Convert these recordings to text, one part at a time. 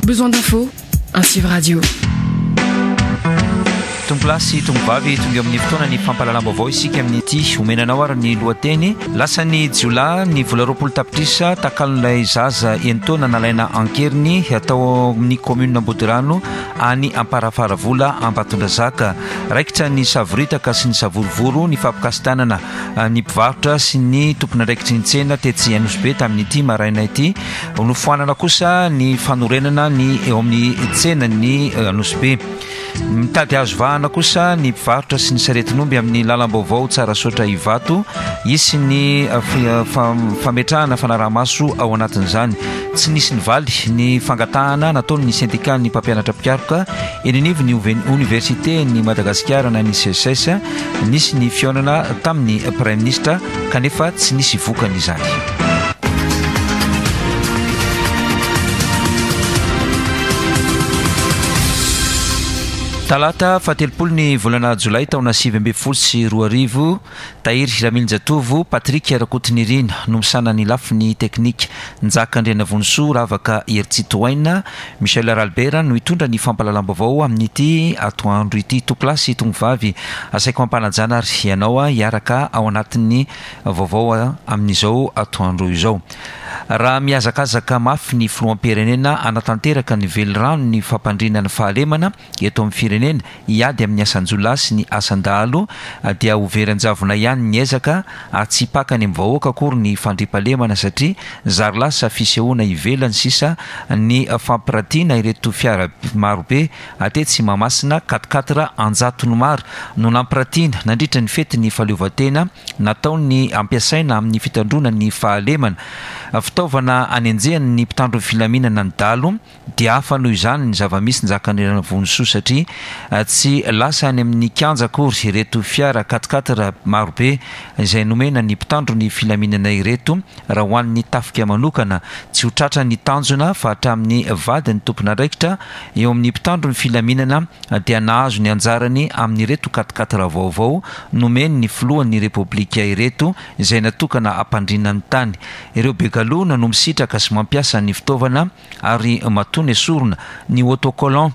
Besoin d'infos? Ainsi Radio. Tompolahy sy tompovavy, tonga eo amin'ny fotoana ny fampahalalam-baovao isika amin'ity. Omena anao ary ny lohateny. Lasan'ny jiolahy ny vola 20 tapitrisa takalon'ilay zaza enin-taona nalaina an-keriny tao amin'ny commune Ambodirano any Amparafaravola Ambatondrazaka. Raikitra ny savoritaka sy ny savorovoro nifampikasi-tanana ny mpivarotra sy ny tompon'andraikitry ny tsena tetsy Anosibe tamin'ity maraina ity. Nofoanana kosa ny fanorenana ny eo amin'ny tsenan'ny Anosibe. Mitady hazo vahana kosa ny mpivarotra sy ny saretin'omby amin'ny lalam-baovao Tsarasaotra Ivato. Hisy ny fametrahana fanaraha-maso ao anatin'izany. Tsy nisy nivaly ny fangatahana nataon'ny sendikan'ny mpampianatra mpikaroka eny anivon'ny oniversiten'i Madagasikara na ny SECES. Nisy ny fihaonana tamin'ny Praiminisitra kanefa tsy nisy vokany izany. Talata fahatelopolo ny volana jolay taona 2019, Tahiry Ramilinjatovo, Patrick Rakotonirina no misahana ny lafiny teknika, Njaka Andrianavonisoa, Ravaka Heritsitohaina, Michel Ralibera no hitondra ny fampahalalam-baovao amin'ity atoandro ity. Tompolahy sy tompovavy, asaiko am-panajana ary ianao hiaraka ao anatin'ny vaovao amin'izao atoandro izao. Raha mihazakazaka mafy ny filoham-pirenena hanatanteraka ny veliranon'ny fampandriana ny fahalemana, eto amin'ny firenena hiady amin'ny asan-jiolahy sy ny asan-dahalo dia ho very an-javona ihany ny ezaka ary tsy hipaka any amin'ny vahoaka akory ny fandriampahalemana satria zary lasa fisehoana ivelany sisa ny fampiratiana ireto fiara marobe tetsy Mahamasina, quatre-quatre an-jatony maro no nampiratiana nandritra ny fetin'ny fahaleovantena nataony ampiasaina amin'ny fitandroana ny fahalemana. Fitaovana anenjehan'ny mpitandro ny filaminana ny dahalo Dia hafa noho izany ny zava-misy njakan'i Vonisoa satria tsy lasa any amin'ny kianja akory ireto fiara quatre-quatre marobe izay nomena ny mpitandro ny filaminana ireto raha ho an'ny tafika manokana. Tsy ho tratra ny tanjona fa hatramin'ny vadin'ny tompon'andraikitra eo amin'ny mpitandro ny filaminana dia nahazo ny anjarany amin'ireto quatre-quatre vaovao nomen'ny filohan'ny Repoblika ireto izay natokana hampandriana ny tany. Ireo be galona no misitraka sy mampiasa ny fitaovana ary matoa nesorina ny autocollant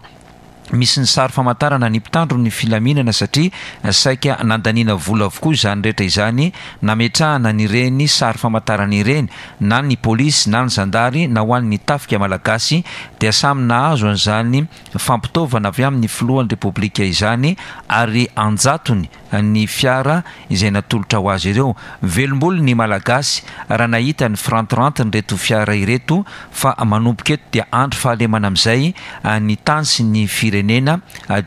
misy ny sary famantarana ny mpitandro ny filaminana satria saika nandaniana vola avokoa izany rehetra izany nametrahana an'ireny sary famantarana ireny na ny polisy na ny zandary na ho an'ny tafika malagasy dia samy nahazo an'izany fampitaovana avy amin'ny filohan'ny repoblika izany ary anjatony ny fiara izay natolotra ho azy ireo. Velom-bolo ny Malagasy raha nahita ny firantirantin'ireto fiara ireto fa manomboka eto dia andry fahalemana amin'izay ny tany sy ny firenena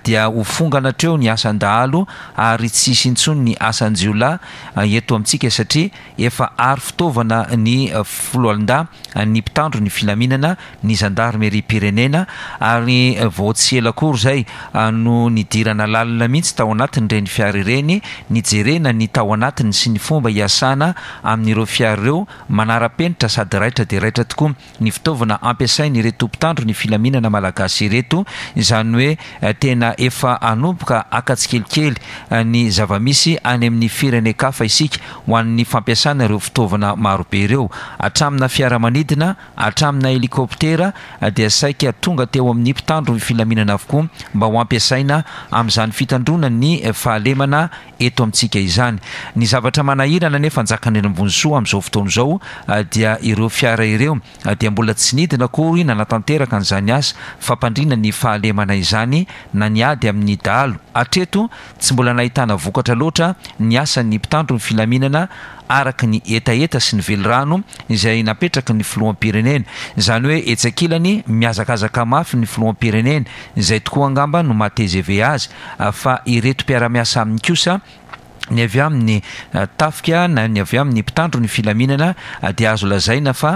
dia ho fongana hatreo ny asan-dahalo ary tsy hisy intsony ny asan-jiolahy eto amintsika satria efa ary fitaovana ny foloalindahy ny mpitandro ny filaminana, ny zandarimeriam-pirenena ary vao tsy ela akory izay no nidirana lalina mihitsy tao anatin'ireny fiara ireny, nijerena ny tao anatiny sy ny fomba hiasana amin'ireo fiara ireo, manara-penitra sady raitra dia raitra tokoa ny fitaovana ampiasain'ireto mpitandro ny filaminana malagasy ireto, izany hoe tena efa hanomboka haka tsikelikely ny zava-misy any amin'ny firenen-kafa isika ho an'ny fampiasana ireo fitaovana marobe ireo. Hatramina fiaramanidina, hatramina helikoptera dia saika tonga teo amin'ny mpitandro ny filaminana avokoa mba ho ampiasaina amin'izany fitandroana ny fahalemana eto amintsika izany. Ny zavatra manahirana anefa Njakanirambonisoa amin'izao fotoana izao dia ireo fiara ireo dia mbola tsy nidina akory nanatanteraka an'izany asa fampandriana ny fahalemana izany na ny ady amin'ny dahalo. Hatreto Tsy mbola nahitana vokatra loatra ny asan'ny mpitandro ny filaminana araka ny hetaheta sy ny velirano izay napetraky ny filoham-pirenena. Izany hoe etsy ankilany mihazakazaka mafy ny filoham-pirenena, izay tokoa angamba no maha tgv azy, fa ireto mpiara-miasa aminy kosa, ny avy amin'ny tafika na ny avy amin'ny mpitandro ny filaminana dia azo lazaina fa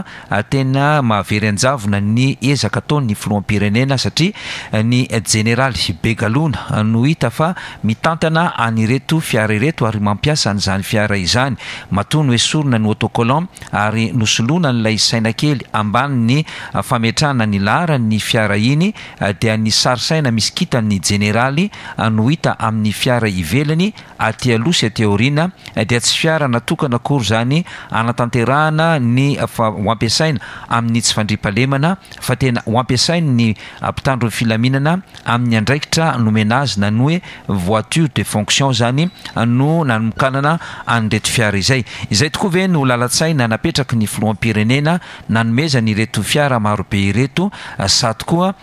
tena mahavery an-javona ny ezaka ataon'ny filoham-pirenena satria ny jeneraly Begalona no hita fa mitantana an'ireto fiara ireto ary mampiasa an'izany fiara izany. Matoa noesorina ny autocollant ary nosoloana an'ilay saina kely ambanin'ny fametrahana ny laharan'ny fiara iny dia ny sary saina misy kintan'ny jeneraly no hita amin'ny fiara ivelany aty aloha. Itaosy aty aoriana dia tsy fiara natokana akory izany hanatanterahana ny ho ampiasaina amin'ny tsy fandriampahalemana fa tena ho ampiasain'ny mpitandro ny filaminana amin'ny andraikitra nomena azy na ny hoe voiture de fonction izany no nanokanana an'ireto fiara izay. Izay tokoa ve no lalan-tsaina napetraky ny filoham-pirenena nanomezany ireto fiara marobe ireto sa tokoa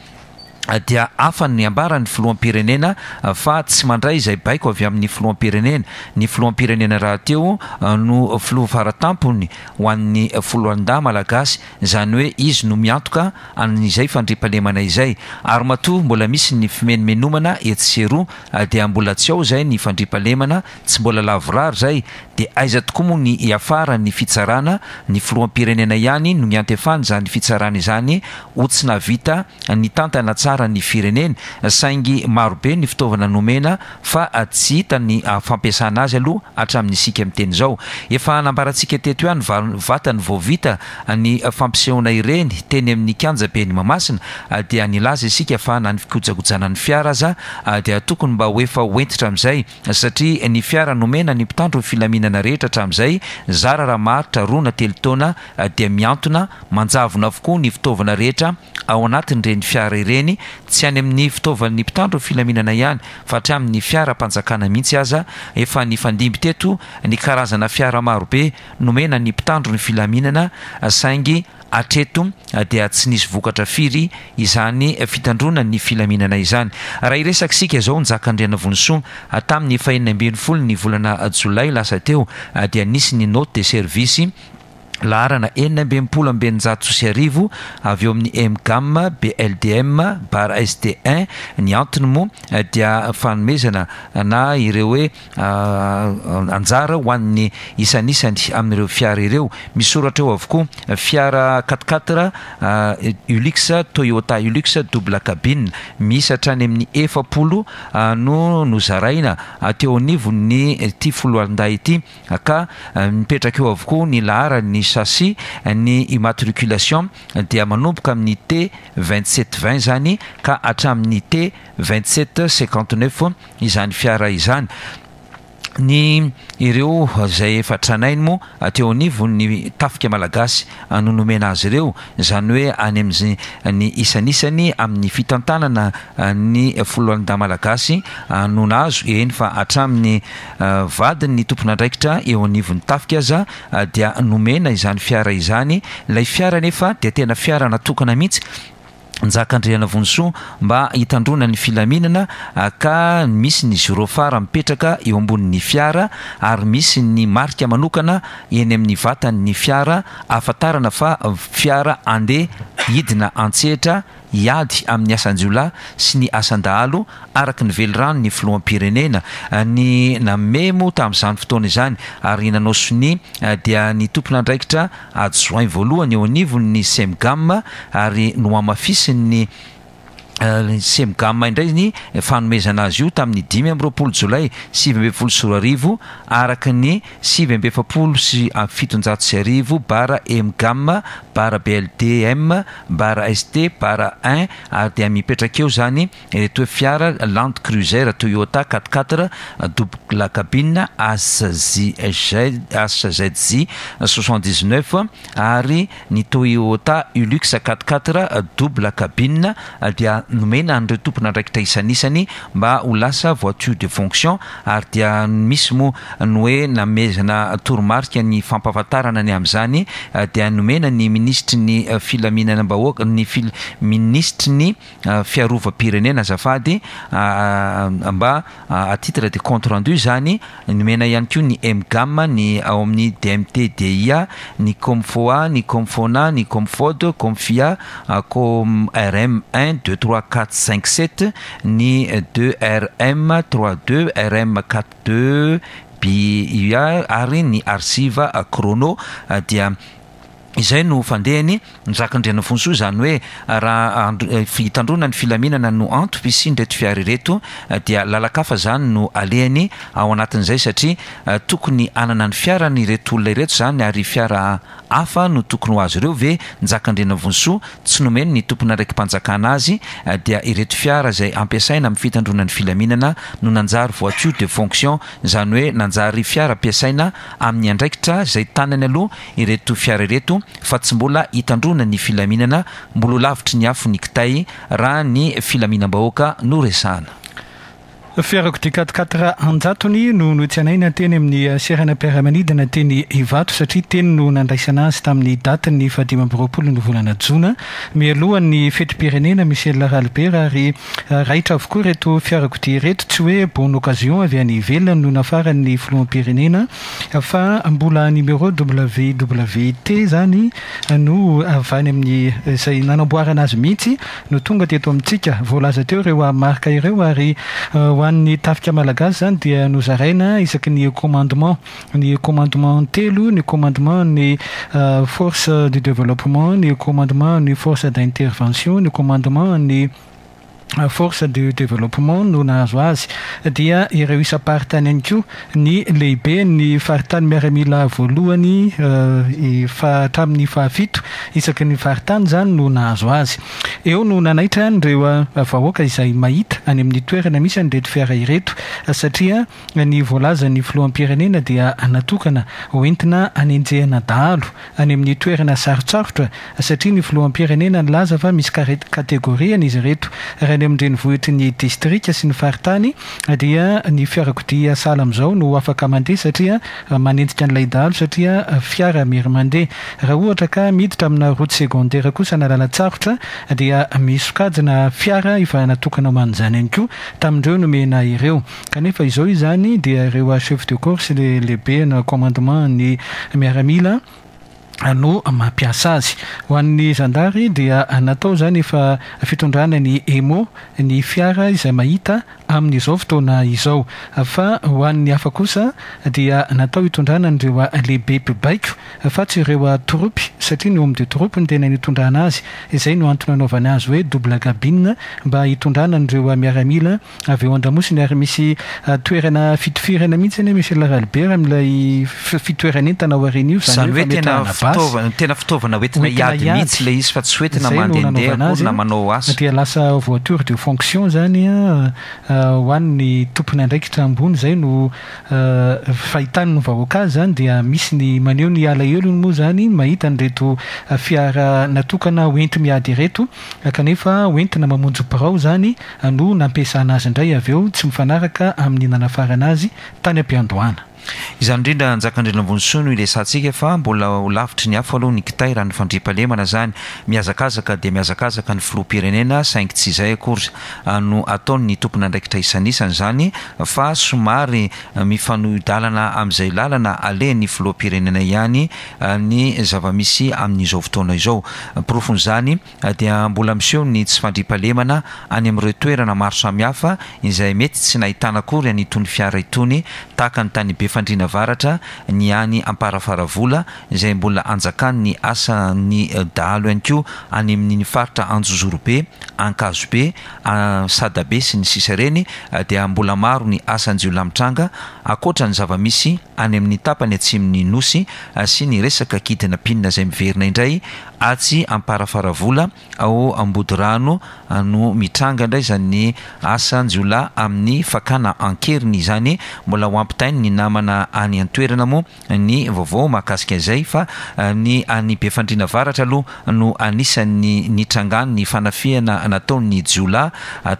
dia hafa ny ambaran'ny filoham-pirenena fa tsy mandray izay baiko avy amin'ny filoham-pirenena. Ny filoham-pirenena rahateo no filoha faratampony ho an'ny foloalindahy malagasy, izany hoe izy no miantoka an'izay fandriampahalemana izay. Ary matoa mbola misy ny fimenomenomana etsy sy eroa dia mbola tsy ao izay ny fandriampahalemana, tsy mbola lavorary izay, dia aiza tokoa moa ny hiafara ny fitsarana, ny filoham-pirenena ihany no niantefany izany fitsarana izany ho tsy nahavita nitantana tsara ny firenena, saingy marobe ny fitaovana nomena fa tsy hita ny fampiasana azy aloha hatramin'isika miteny izao. Efa nambarantsika teto ihany vatany vao vita ny fampisehoana ireny teny amin'ny kianjaben'i Mahamasina dia nilaza isika fa na ny fikojakojana ny fiara aza dia tokony mba ho efa ho hentitra amin'izay satria ny fiara nomena ny mpitandro ny filaminana rehetra hatramin'izay zara raha maharitra roa na telo taona dia mihantona manjavona avokoa ny fitaovana rehetra ao anatin'ireny fiara ireny, tsy any amin'ny fitaovan'ny mpitandro ny filaminana ihany fa hatramin'ny fiaram-panjakana mihitsy aza. Efa nifandimby teto ny karazana fiara marobe nomena ny mpitandro ny filaminana saingy hatreto dia tsy nisy vokatra firy izany fitandroana ny filaminana izany. Raha hiresaka isika izao Njaka Andrianavonisoa, tamin'ny fahenina ambin'ny folo ny volana jolay lasa teo dia nisy ny note de service laharana 1666 avy eo amin'ny EMGAM BLDM barre ST un. Ny antony moa dia fanomezana na ireo hoe anjara ho an'ny isanisany amin'ireo fiara ireo. Misoratra eo avokoa fiara quatre-quatre Hilux, Toyota Hilux double cabine miisa hatrany amin'ny 40 no nozaraina teo anivon'ny ity foloalindahy ity, ka mipetraka eo avokoa ny laharan'ny châssis, ny immatriculation dia manomboka amin'ny T 27 20 zany ka hatramin'ny T 27 59 izany fiara izany. Ny ireo izay efa tranainy moa teo anivon'ny tafika malagasy no nomena azy ireo, izany hoe any amin'ny ny isanisany amin'ny fitantanana ny foloalindahy malagasy no nahazo, eny fa hatramin'ny vadin'ny tompon'andraikitra eo anivon'ny tafika aza dia nomena izany fiara izany. Ilay fiara anefa dia tena fiara natokana mihitsy Njaka Andrianavonisoa mba hitandroana ny filaminana ka misy ny gyrophare mipetraka eo ambonin'ny fiara ary misy ny marika manokana eny amin'ny vatan'ny fiara ahafantarana fa fiara andeha hidina an-tsehatra hiady amin'ny asan-jiolahy sy ny asan-dahalo araka ny veliranon'ny filoham-pirenena ny nanome moa tamin'izany fotoana izany ary nanao sonia dia ny tompon'andraikitra adjoint voalohany eo anivon'ny Cemgam ary nohamafisin'ny Cemgam indray ny fanomezana azy io tamin'ny 25 jolay 2019 araka ny 1749 bara Emgam bara BLDM bara ST bara un ary dia mipetraka eo izany ireto hoe fiara Land Cruiser Toyota quatre quatre double cabine HZJ 79 ary ny Toyota Hilux quatre quatre double cabine dia nomena an'ireo tompon'andraikitra isanisany mba ho lasa voiture de fonction ary dia misy moa ny hoe namezana toromarika ny fampahafantarana ny amin'izany dia nomena ny minisitry ny filaminanam-bahoaka ny minisitry ny fiarovam-pirenena azafady mba à titre de compte rendu izany. Nomena ihany koa ny Emgam, ny ao amin'ny DMT DIA, ny Comfoa, ny Comfona, ny Comfod, Comfia, Com RM 1 2 3 4 5 7, ny 2 RM 3 2 RM 4 2 BIA ary ny Archive Chrono. Dia izay no fandehany Njaka Andrianavonisoa, izany hoe raha hitandroana ny filaminana no antom-pisian'ireto fiara ireto dia lalan-kafa izany no alehany ao anatin'izay, satria tokony hanana ny fiarany ireto olona ireto izany ary fiara. hafa no tokony ho azy ireo ve Njaka Andrianavonisoa tsy nomeny ny tompon'andraiki-panjakana azy dia ireto fiara izay ampiasaina amin'ny fitandroana ny filaminana no nanjary voiture de fonction izany hoe nanjary fiara ampiasaina amin'ny andraikitra izay tanany aloha ireto fiara ireto fa tsy mbola hitandroana ny filaminana mbola ho lavitry ny afo ny kitay raha ny filaminam-bahoaka no resahana. Fiarakodia quatre quatre an-jatony no notsenaina teny amin'ny seranam-piaramanidina teny Ivato satria teny no nandraisana azy tamin'ny datin'ny fahadimy amby 20 ny volana jona mialohan'ny fetim-pirenena Michel Ralibera ary raitra avokoa ireto fiarakodia ireto. Tsy hoe bonne occasion avy any ivelany no nafaran'ny filoham-pirenena fa mbola numéro WWT izany no avy any amin'ny izay nanamboarana azy mihitsy no tonga teto amintsika. Voalaza teo ireo marika ireo ary ho an'ny tafika malagasy izany dia nozaraina isaky ny commandement, ny commandement telo, ny commandement ny force du développement, ny commandement ny force d'intervention, ny commandement ny force du développement no nahazo azy. Dia ireo isam-paritany ihany koa, ny lehiben'ny faritany miaramila voalohany hatramin'ny fahafito isaky ny faritany izany no nahazo azy. Eo no nanaitra an'ireo vahoaka izay mahita any amin'ny toerana misy an'ireto fiara ireto satria ny voalazan'ny filoham-pirenena dia natokana hoentina hanenjehana dahalo any amin'ny toerana sarotsarotra satria ny filoham-pirenena nilaza fa misy kategoriany izy ireto. Raha any amin'ny renivohitry ny distrika sy ny faritany dia ny fiarakodia sahala amin'izao no afaka mandeha satria manenjika an'ilay dahalo satria fiara mery mandeha. Raha ohatra ka miditra amina route secondaire kosa na lalan-tsarotra dia misy sokajina fiara efa natokana ho an'izany ihany koa tamin'ireo nomena ireo. Kanefa izao izany dia ireo chef de corps sy le lehibe na commandement ny miaramila no mampiasa azy. Ho an'ny zandary dia natao izany efa fitondrana ny EMO ny fiara izay mahita amin'izao fotoana izao. Fa ho an'ny hafa kosa dia natao hitondrana an'ireo lehibe mpibaiko fa tsy ireo tropy satria ny homme de troupe no tena nitondrana azy. Izay no antony anaovana azy hoe double cabine mba hitondrana an'ireo miaramila Avy eo an-damosiny ary misy toerana fitifirana mihitsy anie Michel Ralibera amin'ilay fitoeran'entana ao aoriana io, izany hoe tena fitaovana, tena fitaovana hoentina hiady mihitsy ilay izy fa tsy hoentina mandehandeha akory na manao asa. Dia lasa voiture de fonction izany ho an'ny tompon'andraikitra ambony, izay no fahitan'ny vahoaka azy izany, dia misy ny maneho ny alahelony moa izany mahita an'ireto fiara natokana hoenti-miady ireto kanefa hoentina mamonjy birao izany no nampiasana azy indray avy eo tsy mifanaraka amin'ny nanafarana azy tany am-piandohana. Izany indrindra Njakandrianambonisoa no iresahantsika fa mbola ho lavitry ny afo aloha ny kitay raha ny fandriampahalemana izany. Mihazakazaka dia mihazakazaka ny filoham-pirenena saingy tsy izay akory no ataon'ny tompon'andraikitra isanisany izany fa somary mifanohi-dalana amin'izay lalana alehan'ny filoham-pirenena ihany ny zava-misy amin'izao fotoana izao. Porofon'izany dia mbola miseho ny tsy fandriampahalemana any amin'ireo toerana maro samihafa izay mety tsy nahitana akory an'itony fiara itony tahaka ny tany Befandriana Avaratra, ny any Amparafaravola izay mbola anjakan'ny asan'ny dahalo ihany koa any amin'iny faritra Anjozorobe, Ankazobe, Sadabe sy ny sisa ireny dia mbola maro ny asan-jiolahy mitranga ankoatra ny zava-misy any amin'ny tapany atsimon'ny Nosy sy ny resaka kidnapping izay miverina indray Atsy Amparafaravola ao Ambodirano no mitranga indray izany asan-jiolahy amin'ny fakana an-keriny izany. Mbola ho ampitain'ny namana any an-toerana moa ny vaovao mahakasika izay fa ny any Befandriana Avaratra aloha no anisan'ny nitrangan'ny fanafihana nataon'ny jiolahy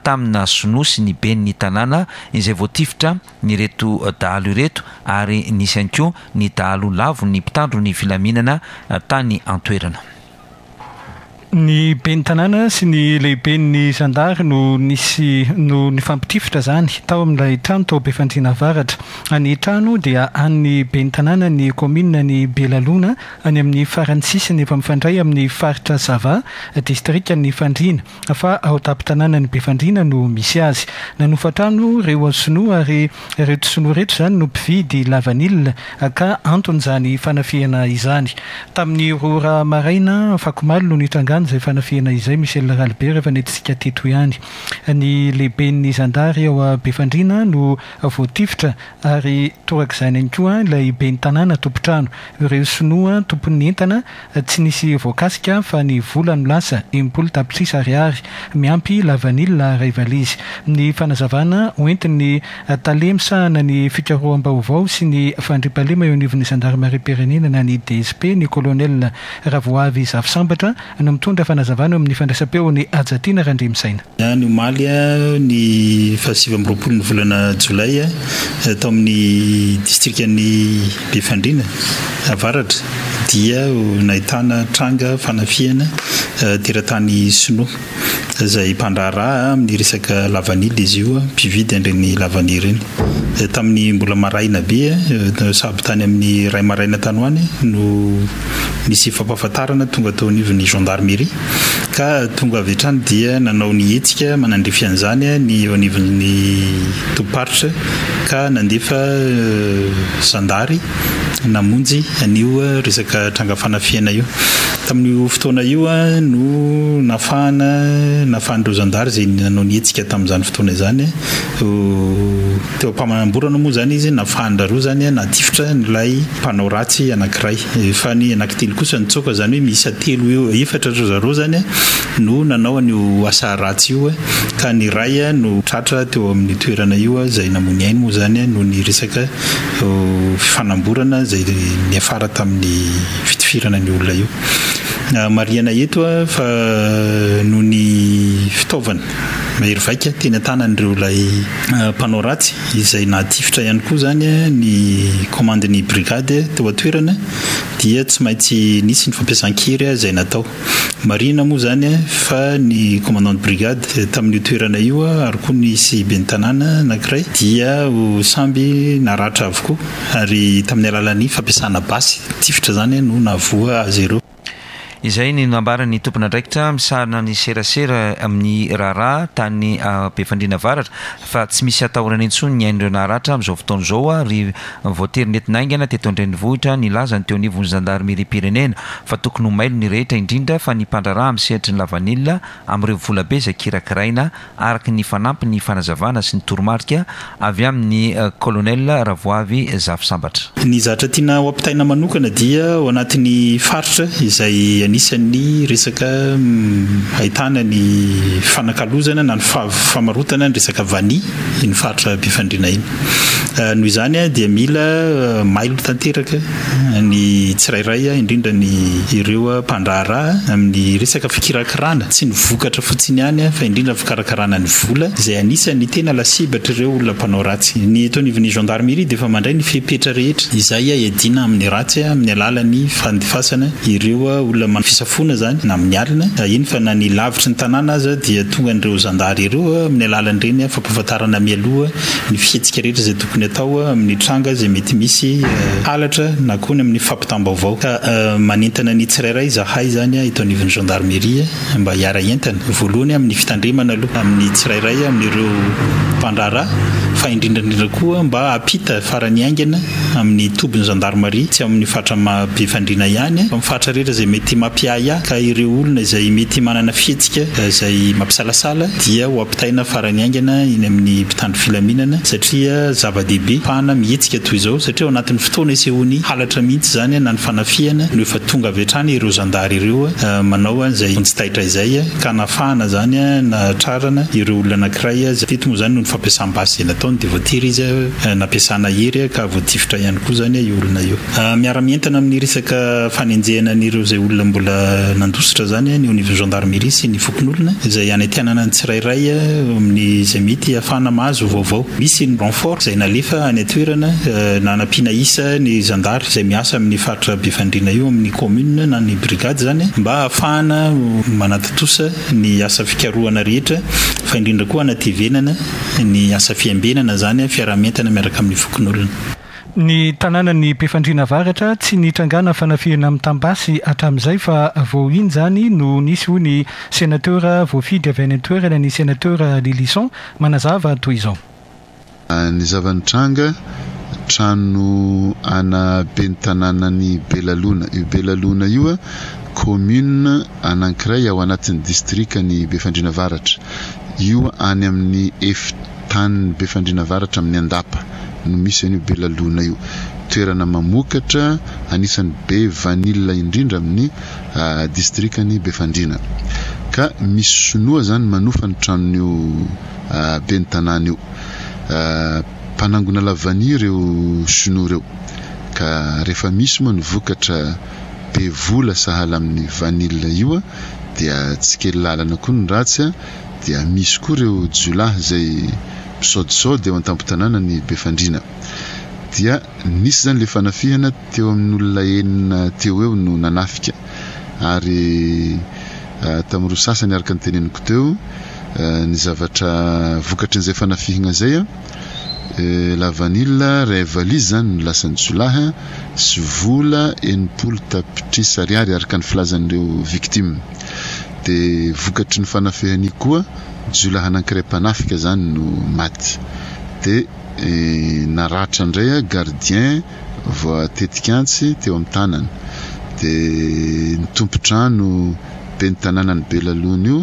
tamina sinoa sy ny ben'ny tanàna izay voatifitra ireto dahalo ireto ary nisy ihany koa ny dahalo lavon'ny mpitandro ny filaminana tany an-toerana. Ny ben'ny tanàna sy ny lehiben'ny zandary no nisy no nifampitifitra izany tao amin'ilay trano tao Befandriana Avaratra. Ny trano dia an'ny ben'ny tanànan'ny kaominina ny Belalona any amin'ny faran'ny sisiny efa mifandray amin'ny faritra Sava, distrikan'i Fandriana. fa ao tampon-tanànan'i Befandriana no misy azy. Nanofa trano ireo sinoa ary ireto sinoa ireto izany no mpividy lavanila ka anton'izany fanafihana izany. Tamin'ny roa ora maraina afakomaly no nitrangan'izany. izany izay fanafihana izay Michel Ralibe rehefa nentintsika teto ihany. Ny lehiben'ny zandary ao Befandriana no voatifitra ary torak'izany ihany koa ilay ben'ny tanàna tompon-trano. Ireo sinoa tompon'ny entana tsy nisy voakasika fa ny vola no lasa, 60 tapitrisa ariary, miampy lavanila iray valizy. Ny fanazavana hoentin'ny tale misahana ny fikaroham-baovao sy ny fandriampahalema eo anivon'ny zandarimariam-pirenena na ny DSP, ny kolonel Ravoavy Zafisambatra no mitondra fanazavana eo amin'ny fandraisam-peon'i Hajatiana Randriamisaina. Ny omaly ny faha 29 ny volana jolay tao amin'ny distrikan'i Befandriana Avaratra dia nahitana tranga fanafihana teratany sinoa izay mpandraharaha amin'ny resaka lavanila izy io, mpividy an'ireny lavanila ireny. Tamin'ny mbola maraina be, sahabo tany amin'ny iray maraina tany ho any no nisy fampahafantarana tonga teo anivon'ny gendarmerie ka tonga avy hatrany dia nanao ny hetsika manandrify an'izany ny eo anivon'ny tobim-paritra ka nandefa zandary namonjy an'io resaka tranga fanafihana io. Tamin'io fotoana io no nafahana nafahan'ireo zandary izay nanao ny hetsika tamin'izany fotoana izany. Teo am-pamanamborana moa izany izy nafahan-dRaroa izany natifitra an'ilay mpanao ratsy anankiray. Fa ny anankitelo kosa nitsoaka, izany hoe miisa telo eo, efatra ry zareo izany no nanao an'io asa ratsy io ka ny iray no tratra teo amin'io toerana io izay namoy ny ainy moa izany noho ny resaka fifanamborana izay niafara tamin'ny fitifirana an'io olona io. Marihana eto fa noho ny fitaovana mahery vaika teny an-tanan'ireo ilay mpanao ratsy izay nahatifitra ihany koa izany ny komandin'ny brigade teo an-toerana dia tsy maintsy nisy ny fampiasan-kery izay natao. Marihina moa izany fa ny commandant de brigade tamin'io toerana io ary koa nisy ben'ny tanàna anankiray dia samby naratra avokoa ary tamin'ny alalan'ny fampiasana basy tifitra izany no nahavoa azy ireo. Izay ny nambaran'ny tompon'andraikitra misahana ny serasera amin'ny raharaha tany Befandriana Avaratra fa tsy misy atahorana intsony ny ain'ireo naharatra amin'izao fotoana izao ary voatery nentina haingana teto an-drenivohitra nilaza ny teo anivon'ny zandarimeriam-pirenena fa tokony ho mailo ny rehetra indrindra fa ny mpandraharaha amin'ny sehatry ny lavanila amin'ireo volabe izay kirakiraina araka ny fanampin'ny fanazavana sy ny toromarika avy amin'ny Colonel Ravoavy Zafisambatra. Ny zatra tiana ho ampitaina manokana dia ao anatin'ny faritra izay anisan'ny resaka ahitana ny fanakalozana na ny famarotana ny resaka vanille iny faritra Befandriana iny. Noho izany dia mila mailo tanteraka ny tsirairay indrindra ny ireo mpandraharaha amin'ny resaka fikirakirana tsy ny vokatra fotsiny ihany fa indrindra ny fikarakarana ny vola izay anisan'ny tena lasibatr'ireo olona mpanao ratsy. Ny eto anivon'ny gendarmerie dia efa mandray ny fepetra rehetra izay hiadiana amin'ny ratsy amin'ny alalan'ny fandefasana ireo olona manao fisafoana izany na amin'ny alina eny fa na ny lavitry ny tanàna aza dia tongan'ireo zandary ireo amin'ny alalan'ireny fampahafantarana mialoha ny fihetsika rehetra izay tokony atao amin'ny tranga izay mety misy halatra na koa ny amin'ny fampitam-baovao. Ka manentana ny tsirairay izahay izany eto anivon'ny gendarmerie mba hiara-hientana, voalohany amin'ny fitandremana aloha amin'ny tsirairay amin'ireo mpandraharaha fa indrindra indrindra koa mba hampita farany haingana amin'ny tobin'ny gendarmerie, tsy amin'ny faritra Befandriana ihany fa amin'ny faritra rehetra izay mety mampiahiahy ka ireo olona izay mety manana fihetsika izay mampisalasala dia ho ampitaina farany haingana eny amin'ny mpitandro filaminana satria zava-dehibe fahana mihetsika toy izao satria ao anatin'ny fotoana isehoan'ny halatra mihitsy izany na ny fanafihana no efa tonga avy hatrany ireo zandary ireo manao an'izay vonjy taitra izay ka nahafahana izany nahatrarana ireo olona anankiray izay teto moa izany noho ny fampiasam-basy izay nataony dia voatery izy nampiasana hery ka voatifitra ihany koa izany io olona io. Miara-mientana amin'ny resaka fanenjehana an'ireo izay olona mbola nandositra izany ny eo anivon'ny gendarmerie sy ny fokonolona izay hanentanana ny tsirairay amin'ny izay mety hahafahana mahazo vaovao. Misy ny renfort izay nalefa any an-toerana nanampiana isa ny zandary izay miasa amin'ny faritra Befandriana io amin'ny commune na ny brigade izany mba hahafahana manatontosa ny asa fikarohana rehetra fa indrindra koa hanatevenana ny asa fiambenana izany fiaraha-mientana miaraka amin'ny fokonolona. Ny tanànan'i Befandriana Avaratra tsy nitrangana fanafihana mitam-basy hatramin'izay fa vao iny izany no nisy hoy ny senatera voafidy avy any an-toerana ny senatera Lylison manazava toy izao. Ny zava-nitranga, trano ana ben'ny tanànan'i Belalona. Io Belalona io. commune anankiray ao anatin'ny distrikan'i Befandriana Avaratra. Io any amin'ny efitanin'i Befandriana Avaratra amin'ny Andapa no misy an'io Belalona io. Toerana mamokatra anisan'ny be vanille indrindra amin'ny distrikan'i Befandriana. Ka misy sinoa zany manofa ny tranon'io ben'ny tanàna io. Mpanangona lavania ireo sinoa ireo. Ka rehefa misy moa ny vokatra be vola sahala amin'ny vanille io dia tsy kely lalana koa ny ratsy dia misy koa ireo jiolahy izay misaodisaody eo an-tampon-tanànan'i Befandriana. Dia nisy izany ilay fanafihana teo amin'olona enina teo eo no nanafika ary tamin'ireo sasany araka ny teneniko teo ny zavatra vokatrin'izay fanafihina izay Lavanila iray valizy izany no lasan'ny jiolahy sy vola 60 tapitrisa ariary araka ny filazan'ireo victimes. Dia vokatry ny fanafihana io koa jiolahy anankiray mpanafika izany no maty. Dia naratra indray gardien voatetik'antsy teo amin'ny tanany. Dia ny tompon-trano ben'ny tanànan'i Belalona io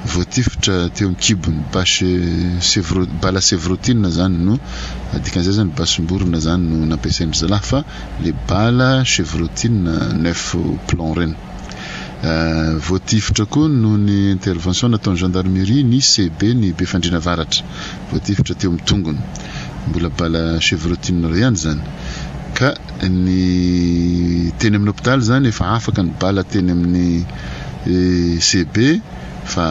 voatifitra teo amin'ny kibony, bâche chevro, bala chevrotine zany no dikan'izay zany basim-borona zany no nampiasain-dry zalahy fa le bala chevrotine neuf plomb reny. Voatifitra koa noho ny intervention nataon'ny gendarmerie ny CB ny Befandriana Avaratra, voatifitra teo amin'ny tongony, mbola bala chevrotine ireo ihany zany. Ka ny teny amin'ny hopitaly zany efa afaka ny bala teny amin'ny CB fa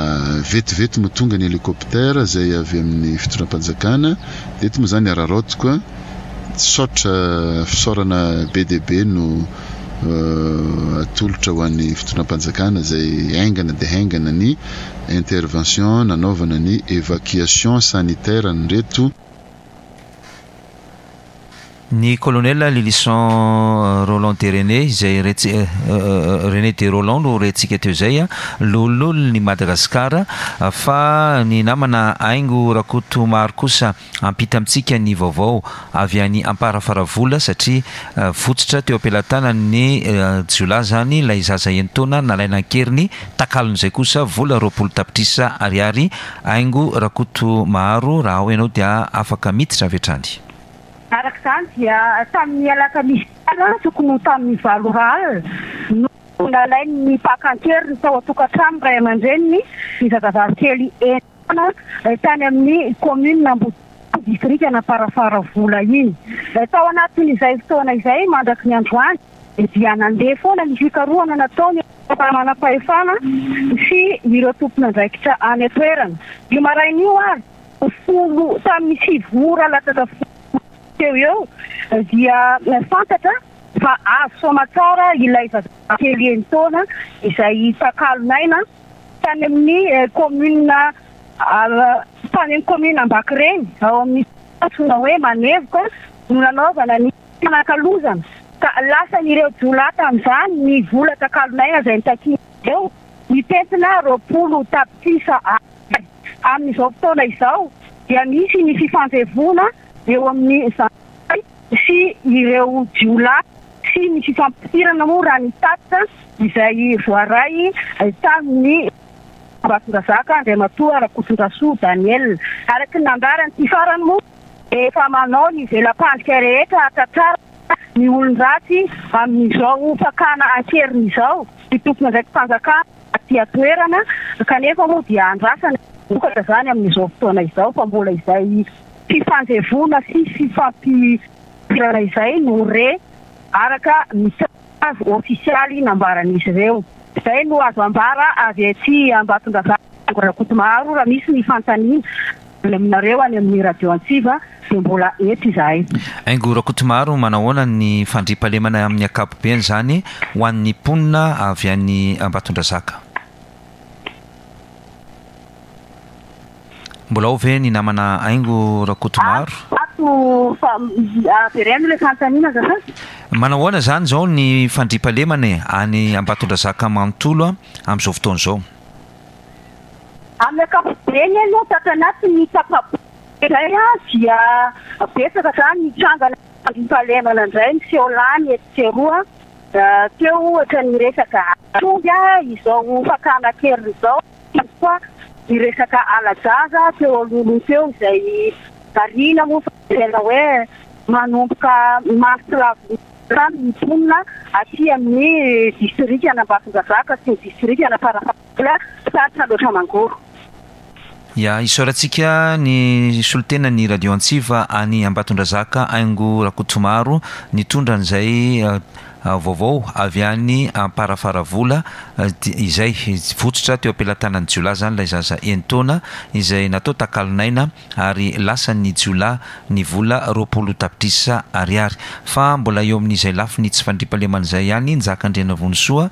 vetivety moa tonga ny hélicoptère izay avy amin'ny fitondram-panjakana dia eto moa izany araraotiko a, saotra fisaorana be dia be no atolotra ho an'ny fitondram-panjakana izay haingana dia haingana ny intervention nanaovana ny évacuation sanitaire an'ireto Ny Colonel Lylison Roland de René izay René de Roland no rentsika teo izay, loholon'i Madagasikara, fa ny namana Haingo Rakotomaro kosa hampita amintsika ny vaovao avy any Amparafaravola satria votsotra teo am-pelatanan'ny jiolahy izany ilay zaza enin-taona nalaina an-keriny, takalon'izay kosa vola 20 tapitrisa ariary. Haingo Rakotomaro, raha ao ianao dia afaka miditra avy hatrany. Araka izany dia tamin'ny alakamisy alina tokony ho tamin'ny valo ora alina no nalain'ny mpaka an-keriny tao an-tokantranon'ny ray aman-dreniny ny zazavavy kely enina taona tany amin'ny kaominina Ambodimanga, distrikan'Amparafaravola iny. Tao anatin'izay fotoana izay mandraky ny androany dia nandeha foana ny fikarohana nataon'ireo manam-pahefana sy ireo tompon'andraikitra any an-toerana. Io maraina io ary folo tamin'ny sivy ora latsaka folo teo eo dia fantatra fa azo soamatsara ilay zazakely enin-taona izay takalon'aina tany amin'ny commune tany amin'ny commune Ambakireny ao amin'ny antsoina hoe Manevoka no nanaovana ny fanakalozana ka lasan'ireo jiolahy tamin'izany ny vola takalon'aina izay nitakian'izy ireo mitentina 20 tapitrisa Ar. Amin'izao fotoana izao dia misy ny fifanjevoana eo amin'ny zandary sy ireo jiolahy sy ny fifampitifirana moa raha ny tatitra izay voaray tamin'ny Ambatondrazaka Andriamatoa Rakotondrasoa Daniel. Araka ny nambaran'ity farany moa dia efa manao ny vela-pandrika rehetra hahatratrarana ny olon-dratsy amin'izao fakana an-keriny izao ny tompon'andraiki-panjakana. aty an-toerana kanefa moa dia andrasana vokatra izany amin'izao fotoana izao fa mbola izay fifanjevoana sy fifampirana izay no re araka ny tsaho ofisialy nambaran'izy ireo. Izay no azo ambara avy aty Ambatondrazaka Rakotomaharo raha misy ny fanontaniana any aminareo any amin'ny Radio Antsiva dia mbola eto izahay. Haingo Rakotomaharo, manahoana ny fandriampahalemana amin'ny ankapobeny izany ho an'ny mponina avy any Ambatondrazaka? Mbola ao ve ny namana Haingo Rakotomaharo? Ato fa avereno ilay fanontaniana azafady. Manahoana izany izao ny fandriampahalemana e, any Ambatondrazaka manontolo amin'izao fotoana izao? Amin'ny ankapobeny aloha tato anatin'ny tapa-bolana indray dia betsaka izany ny trangana fandriampahalemana indray miseho lany etsy sy eroa. Teo ohatra ny resaka tromby, izao fakana an-keriny izao, ihany koa ny resaka hala-jaza teo alohaloha teo izay marihina moa fa tena hoe manomboka mahatsiravina hatrany ny mponina aty amin'ny distrikan'Ambatondrazaka sy ny distrikan'Amparafaravola faritra Alaotra Mangoro. Ya, isaorantsika ny solontenan'ny Radio Antsiva any Ambatondrazaka Haingo Rakotomaro nitondra an'izay vaovao avy any Amparafaravola izay votsotra teo am-pelatanan'ny jiolahy izany ilay zaza enin-taona izay natao takalon'aina ary lasan'ny jiolahy ny vola 20 tapitrisa ariary. Fa mbola eo amin'izay lafiny tsy fandriampahalemana izay ihany Njaka Andrianavonisoa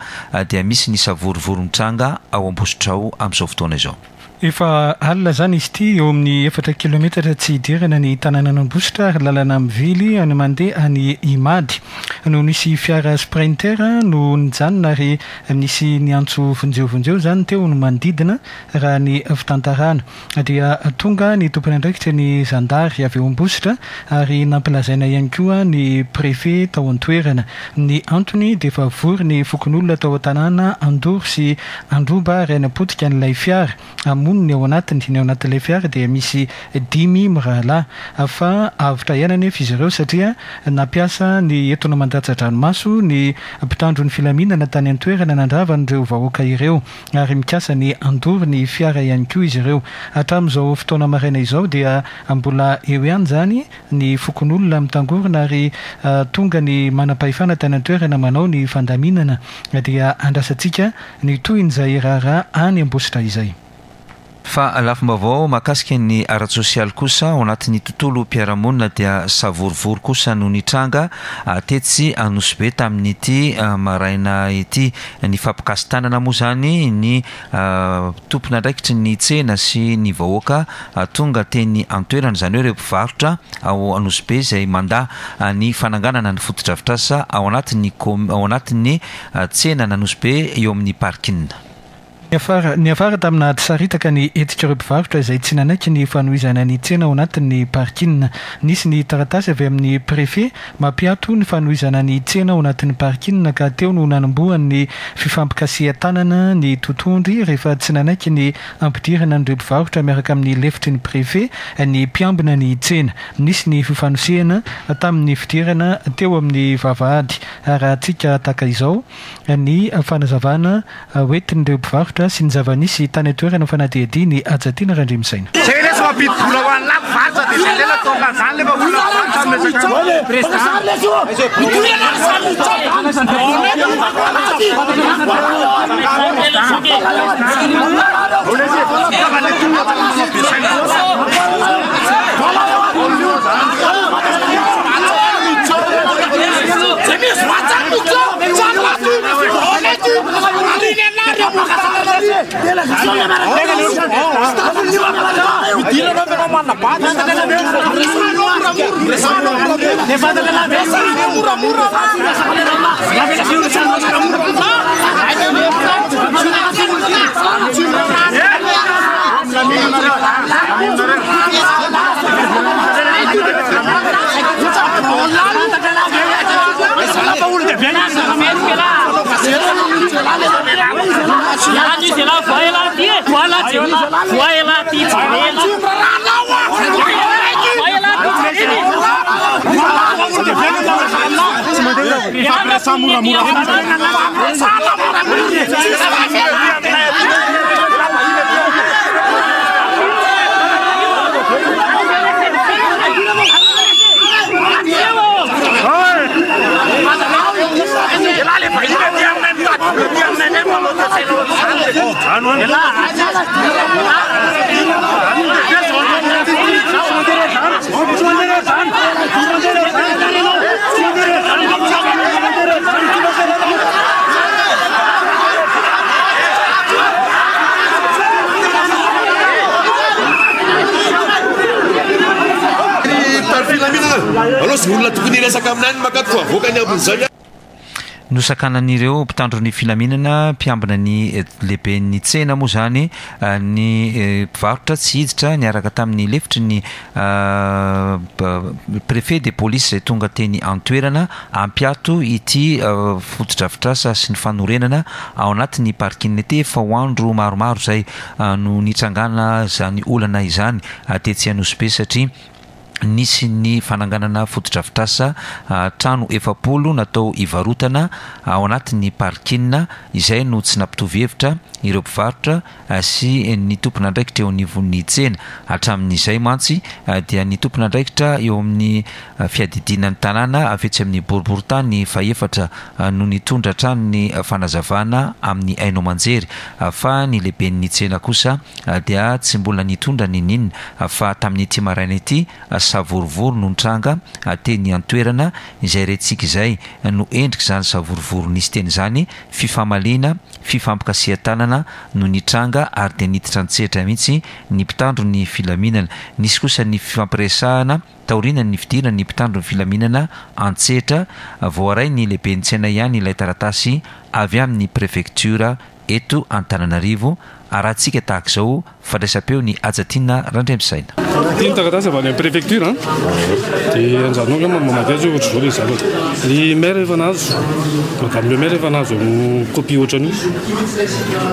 dia misy ny savorovoro mitranga ao Ambositra ao amin'izao fotoana izao. Efa alina izany izy ity, eo amin'ny efatra kilometatra tsy hidirana ny tanànan'Ambositra ary lalana mivily any mandeha any Imady no nisy fiara Sprinter no nijanona ary nisy niantso vonjeo vonjeo izany teo no manodidina raha ny fitantarana. Dia tonga ny tompon'andraikitry ny zandary avy eo Ambositra ary nampilazaina ihany koa ny préfet tao an-toerana. Ny antony dia efa vory ny fokonolona tao an-tanàna handoro sy handroba ary hanapotika an'ilay fiara, hamono ny ao anatiny. Ny ao anatin'ilay fiara dia misy dimy mirahalahy. Fa avotra ihany anefa izy ireo satria nampiasa ny etona mandatsa-dranomaso ny mpitandro ny filaminana tany an-toerana nandrava an'ireo vahoaka ireo ary mikasa ny handoro ny fiara ihany koa izy ireo. Hatramin'izao fotoana maraina izao dia mbola eo ihany izany ny fokonolona mitangorona ary tonga ny manam-pahefana tany an-toerana manao ny fandaminana dia andrasantsika ny tohin'izay raharaha any Ambositra izay. Fa lafim-baovao mahakasika ny ara-tsosialy kosa, ao anatin'ny tontolom-piarahamonina dia savorovoro kosa no nitranga tetsy Anosibe tamin'ity maraina ity. Nifampikasi-tanana moa izany ny tompon'andraikitry ny tsena sy ny vahoaka tonga teny an-toerana, izany hoe ireo mpivarotra ao Anosibe izay mandà ny fananganana ny fotodrafitrasa ao anatin'ny ao anatin'ny tsenan'Anosibe eo amin'ny parking. Niafara niafara tamina ady saritaka ny hetsik'ireo mpivarotra izay tsy nanaiky ny fanohizana ny tsena ao anatin'ny parking. Nisy ny taratasy avy amin'ny préfet Mampiato ny fanohizana ny tsena ao anatin'ny parking ka teo no nanombohan'ny fifampikasihan-tanana ny totohondry rehefa tsy nanaiky ny hampidirana an'ireo mpivarotra miaraka amin'ny lefitry ny préfet ny mpiambina ny tsena. Nisy ny fifanosehana tamin'ny fidirana teo amin'ny vavahady. Arahantsika tahaka izao ny fanazavana Hoentin'ireo mpivarotra sy ny zava-nisy tany an-toerana fanadihadian'i Hajatiana Randriamisaina. Zay lesy mampidi-bola ho an'ny lafo varotra dia zay ndray natao filazana lefa olona mpivarotra amin'ny resaka Nosakanan'ireo mpitandro ny filaminana mpiambina ny lehiben'ny tsena moa izany ny mpivarotra tsy hiditra niaraka tamin'ny lefitry ny Préfet de police izay tonga teny an-toerana hampiato ity fotodrafitrasa sy ny fanorenana ao anatin'ny parking ity. Efa ho andro maromaro izay no nitrangana izany olana izany tetsy Anosibe satria nisy ny fananganana fotodrafitrasa trano 40 natao hivarotana ao anatin'ny parking izay no tsy nampitovy hevitra ireo mpivarotra sy ny tompon'andraikitra eo anivon'ny tsena. Hatramin'izay mantsy dia ny tompon'andraikitra eo amin'ny fiadidiana ny tanàna avy etsy amin'ny boriborintany fahefatra no nitondra hatrany ny fanazavana amin'ny haino aman-jery fa ny lehiben'ny tsena kosa dia tsy mbola nitondra n'inon'inona fa tamin'ity maraina ity savorovoro no nitranga teny an-toerana izay rentsika izay no endrik'izany savorovoro nisy teny izany fifamaliana, fifampikasihan-tanana no nitranga ary dia niditra an-tsehatra mihitsy ny mpitandro ny filaminana. Nisy kosa ny fifampiresahana taorianan'ny fidiran'ny mpitandro ny filaminana an-tsehatra. Voaray ny lehiben'ny tsena ihany ilay taratasy avy amin'ny prefektiora eto Antananarivo. Arahantsika tahaka izao Fandraisam-peo ny Hajatiana Randriamisaina. Ity ny taratasy avy any amin'ny préfecture an, dia anjaranao angamba ny mamaky azy hoe ohatr'izao ilay zavatra. Ny maire efa nahazo, madame le maire efa nahazo copie ohatran'io.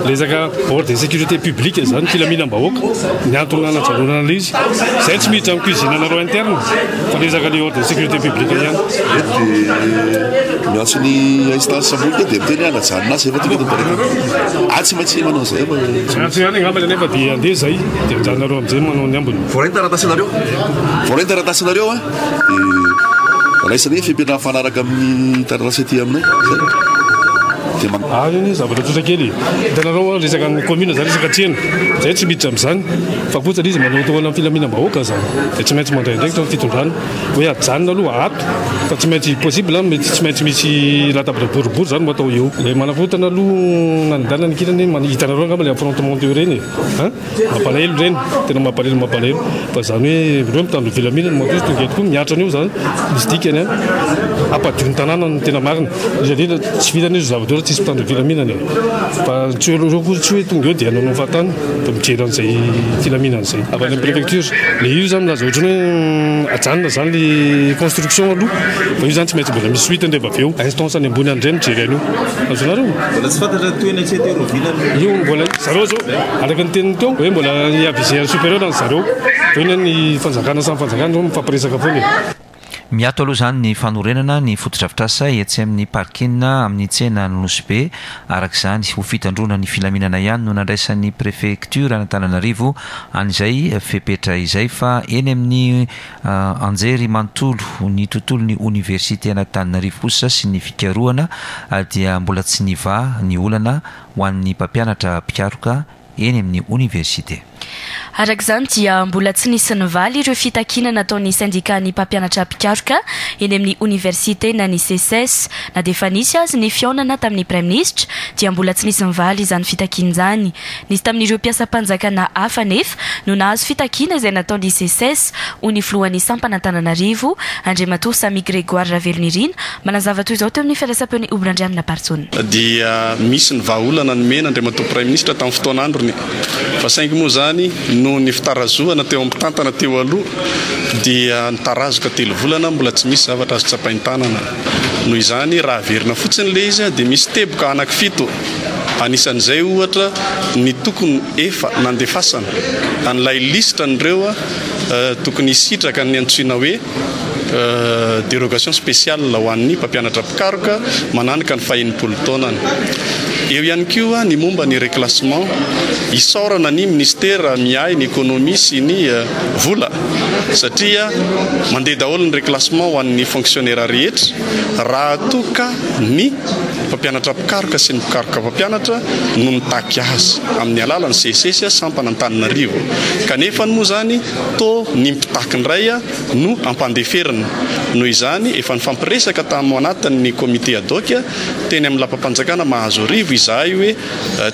Resaka ordre de sécurité publique izany, filaminam-bahoaka, ny antony nanajanonana an'ilay izy. Izay tsy miditra amin'ny cuisine anareo interne fa resaka ilay ordre de sécurité publique ihany. Eto dia miantso ny instance ambony dia miteny hoe anajanona azy efa tonga eto an-tanàna. Ah tsy maintsy manao an'izay fa tsy Miantso ihany angambany anefa dia andeha izay dia anjaranareo amin'izay manao ny ambiny. Voaray ny taratasinareo, voaray ny taratasinareo an, dia raisinay ny fepetra mifanaraka amin'ny taratasy aty aminay, zay. Dia man. Ary anie zavatra tsotra kely e! Hitanareo an, resaka ny commune zany resaka tsena, zay tsy miditra amin'izany fa kosa ilay izy manao tohana amin'ny filaminam-bahoaka zany dia tsy maintsy mandray andraikitra ny fitondrana. Hoe ajanona aloha ato fa tsy maintsy possible mety tsy maintsy misy latabatra boribory zany no atao eo. Ilay manakorontana aloha nanindana ny kirany hoe hitanareo angamba ilay affrontement teo ireny e! An! Mampalahelo ireny, tena mampalahelo mampalahelo fa zany hoe ireo mitandro ny filaminana manko izy tonga eto koa mihatra an'io zany misy dikany an! Hampadio ny tanàna no tena marina, indrindra indrindra tsy vitan'io zavatra io raha tsisy mpitandro ny filaminana e! Fa tsy hoe ireo koa tsy hoe tonga eo dia hanao ny fahatany fa mijery an'izay filaminana izay. Avy any amin'ny préfecture. Le io zany milaza ohatran'ny hoe ajanona zany le construction aloha fa io zany tsy maintsy mbola misy suite rehefa avy eo. Instance any ambony any indray mijery an'io. Azonareo? Mbola tsy fantatra ny tohiny hatreto hoe rahoviana no. Io mbola zareo zao araka ny teniny teo hoe mbola hi-aviser ny supérieur ny zareo. Fa io ny fanjakana samy fanjakana zao mifampiresaka foana e. Miato aloha izany ny fanorenana ny fotodrafitrasa etsy amin'ny parking amin'ny tsena Nosy Be. Araka izany, ho fitandroana ny filaminana ihany no nandraisan'ny prefektioran'Antananarivo an'izay fepetra izay fa eny amin'ny anjery manontolo ny tontolon'ny oniversiten'Antananarivo kosa sy ny fikarohana dia mbola tsy nivaha ny olana ho an'ny mpampianatra mpikaroka eny amin'ny oniversite. Araka izany dia mbola tsy nisy nivaly ireo fitakiana nataon'ny sendikan'ny mpampianatra mpikaroka eny amin'ny oniversite na ny Seces. Na dia efa nisy azy ny fihaonana tamin'ny praiminisitra dia mbola tsy nisy nivaly izany fitakiana izany. Nisy tamin'ireo mpiasam-panjakana hafa anefa no nahazo fitakiana izay nataon'ny Seces, hoy ny filohan'ny sampana Antananarivo, Andriamatoa Sammy Grégoire Ravelonirina, manazava toy izao teo amin'ny fandraisam-peon'i Obrandrianina Barjaona. Dia misy ny vahaolana nomena Andriamatoa Praiminisitra tamin'ny fotoan'androny fa saingy moa izany noho ny fitarazohana teo amin'ny mpitantana teo aloha dia nitarazoka telo volana mbola tsy misy zavatra azo tsapain-tanana. Noho izany raha averina fotsiny ilay izy dia misy teboka anankifito anisan'izay ohatra ny tokony efa nandefasana an'ilay lisitra an'ireo tokony hisitraka ny antsoina hoe Dérogation spéciale ho an'ny mpampianatra mpikaroka mananika ny faha-enimpolo taonany. Eo ihany koa ny momba ny reclassement. Isaorana ny minisitera miahy ny économie sy ny vola satria mandeha daholo ny reclassement ho an'ny fonctionnaire rehetra raha toa ka ny mpampianatra mpikaroka sy ny mpikaroka mpampianatra no mitaky azy amin'ny alalan'ny SECES sampana Antananarivo. Kanefa moa izany toa ny mpitaky indray no ampandeferina. Noho izany, efa nifampiresaka tamo anatin'ny comité ad hoc teny amin'ny lapam-panjakana Mahazoarivo izahay hoe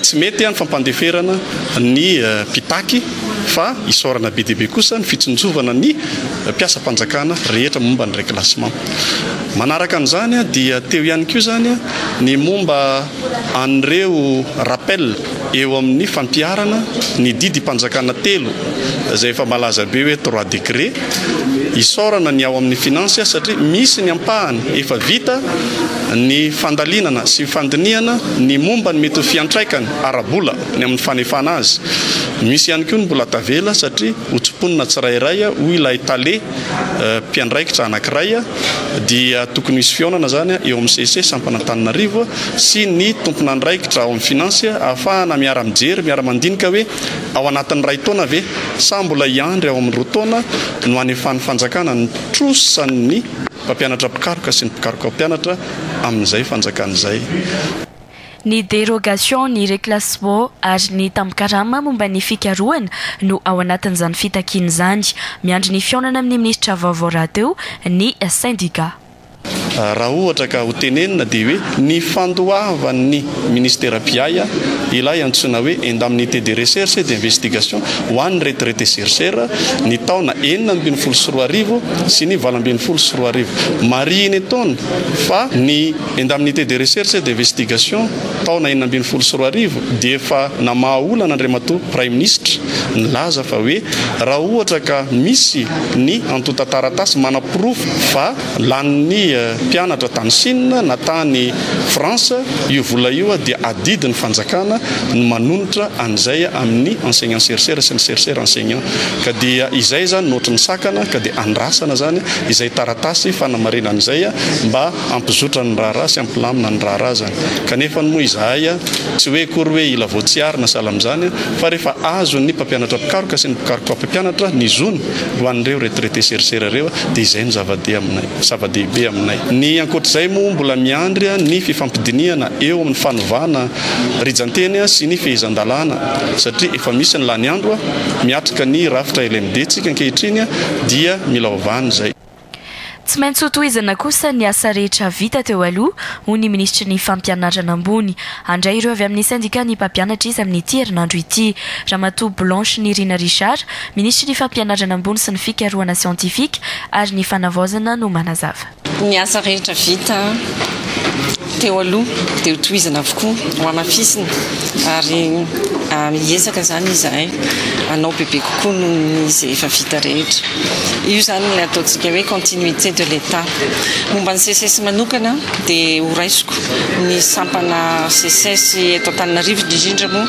tsy mety ny fampandeferana ny mpitaky Fa isaorana be dia be kosa ny fitsinjovana ny mpiasam-panjakana rehetra momba ny reclassement. Manaraka an'izany dia teo ihany koa izany ny momba an'ireo rappel eo amin'ny fampiharana ny didim-panjakana telo izay efa malaza be hoe trois décrets. Isaorana ny ao amin'ny finance satria misy ny ampahany efa vita ny fandalinana sy fandinihana ny momba ny mety ho fiantraikany ara-bola ny amin'ny fanefana azy. Misy ihany koa ny mbola tavela satria ho tsimponina tsirairay hoy ilay tale mpiandraikitra anankiray dia tokony hisy fihaonana izany eo amin'ny CC sampana Antananarivo sy ny tompon'andraikitra ao amin'ny finance ahafahana miara-mijery, miara-mandinika hoe ao anatin'ny iray taona ve sa mbola hiandry ao amin'ny roa taona no hanefan'ny fanjakana ny trosan'ny mpampianatra mpikaroka sy ny mpikaroka mpampianatra amin'izay fanjakana izay. Ny dérogation, ny reclassement ary ny tambin-karama momba ny fikarohana no ao anatin'izany fitakiana izany. Miandry ny fihaonana amin'ny minisitra vaovao rahateo ny sendika. Raha ohatra ka ho tenenina dia hoe ny fandoavan'ny minisitera mpiahy ilay antsoina hoe indemnité de recherche et d'investigation ho an'ny retraité chercheur ny taona 2016 sy ny 2018. Marihina etoana fa ny indemnité de recherche et d'investigation taona 2016 dia efa namaha olana Andriamatoa Praiminisitra nilaza fa hoe raha ohatra ka misy ny antontan-taratasy manaporofo fa lanin'ny mpianatra tany Chine na tany France io vola io dia adidin'ny fanjakana ny manonitra an'izay amin'ny enseignant chercheur sy ny chercheur enseignant ka dia izay izany no ohatry ny sakana ka dia andrasana izany izay taratasy fanamarinana izay mba hampizotra ny raharaha sy hampilamina ny raharaha izany. Kanefa moa izahay tsy hoe akory hoe hila voatsiary na sahala amin'izany fa rehefa azon'ny mpampianatra mpikaroka sy ny mpikaroka mpampianatra ny zony ho an'ireo retraité chercheur ireo dia izay no zava-dehibe aminay. Ny ankoatr'izay moa mbola miandry ny fifampidinihana eo amin'ny fanovana rijan-teny sy ny fehezan-dalàna satria efa misy ny lany andro miatrika ny rafitra LMD tsika ankehitriny dia mila ovana izay. Tsy maintsy hotohizana kosa ny asa rehetra vita teo aloha, hoy ny minisitry ny Fampianarana ambony. Handray ireo avy amin'ny sendikan'ny mpampianatra izy amin'ity herinandro ity. Ramatoa Blanche Nirina Richard, minisitry ny Fampianarana ambony sy ny fikarohana siantifika ary ny fanavaozana no manazava. Ny asa rehetra vita teo aloha dia hotohizana avokoa, hohamafisina ary hiezaka izany izahay hanao bebe kokoa noho ny izay efa vita rehetra. Io izany ilay ataontsika hoe continuité de l'Etat. Momba ny SECES manokana dia horaisiko ny sampana SECES eto Antananarivo indrindra moa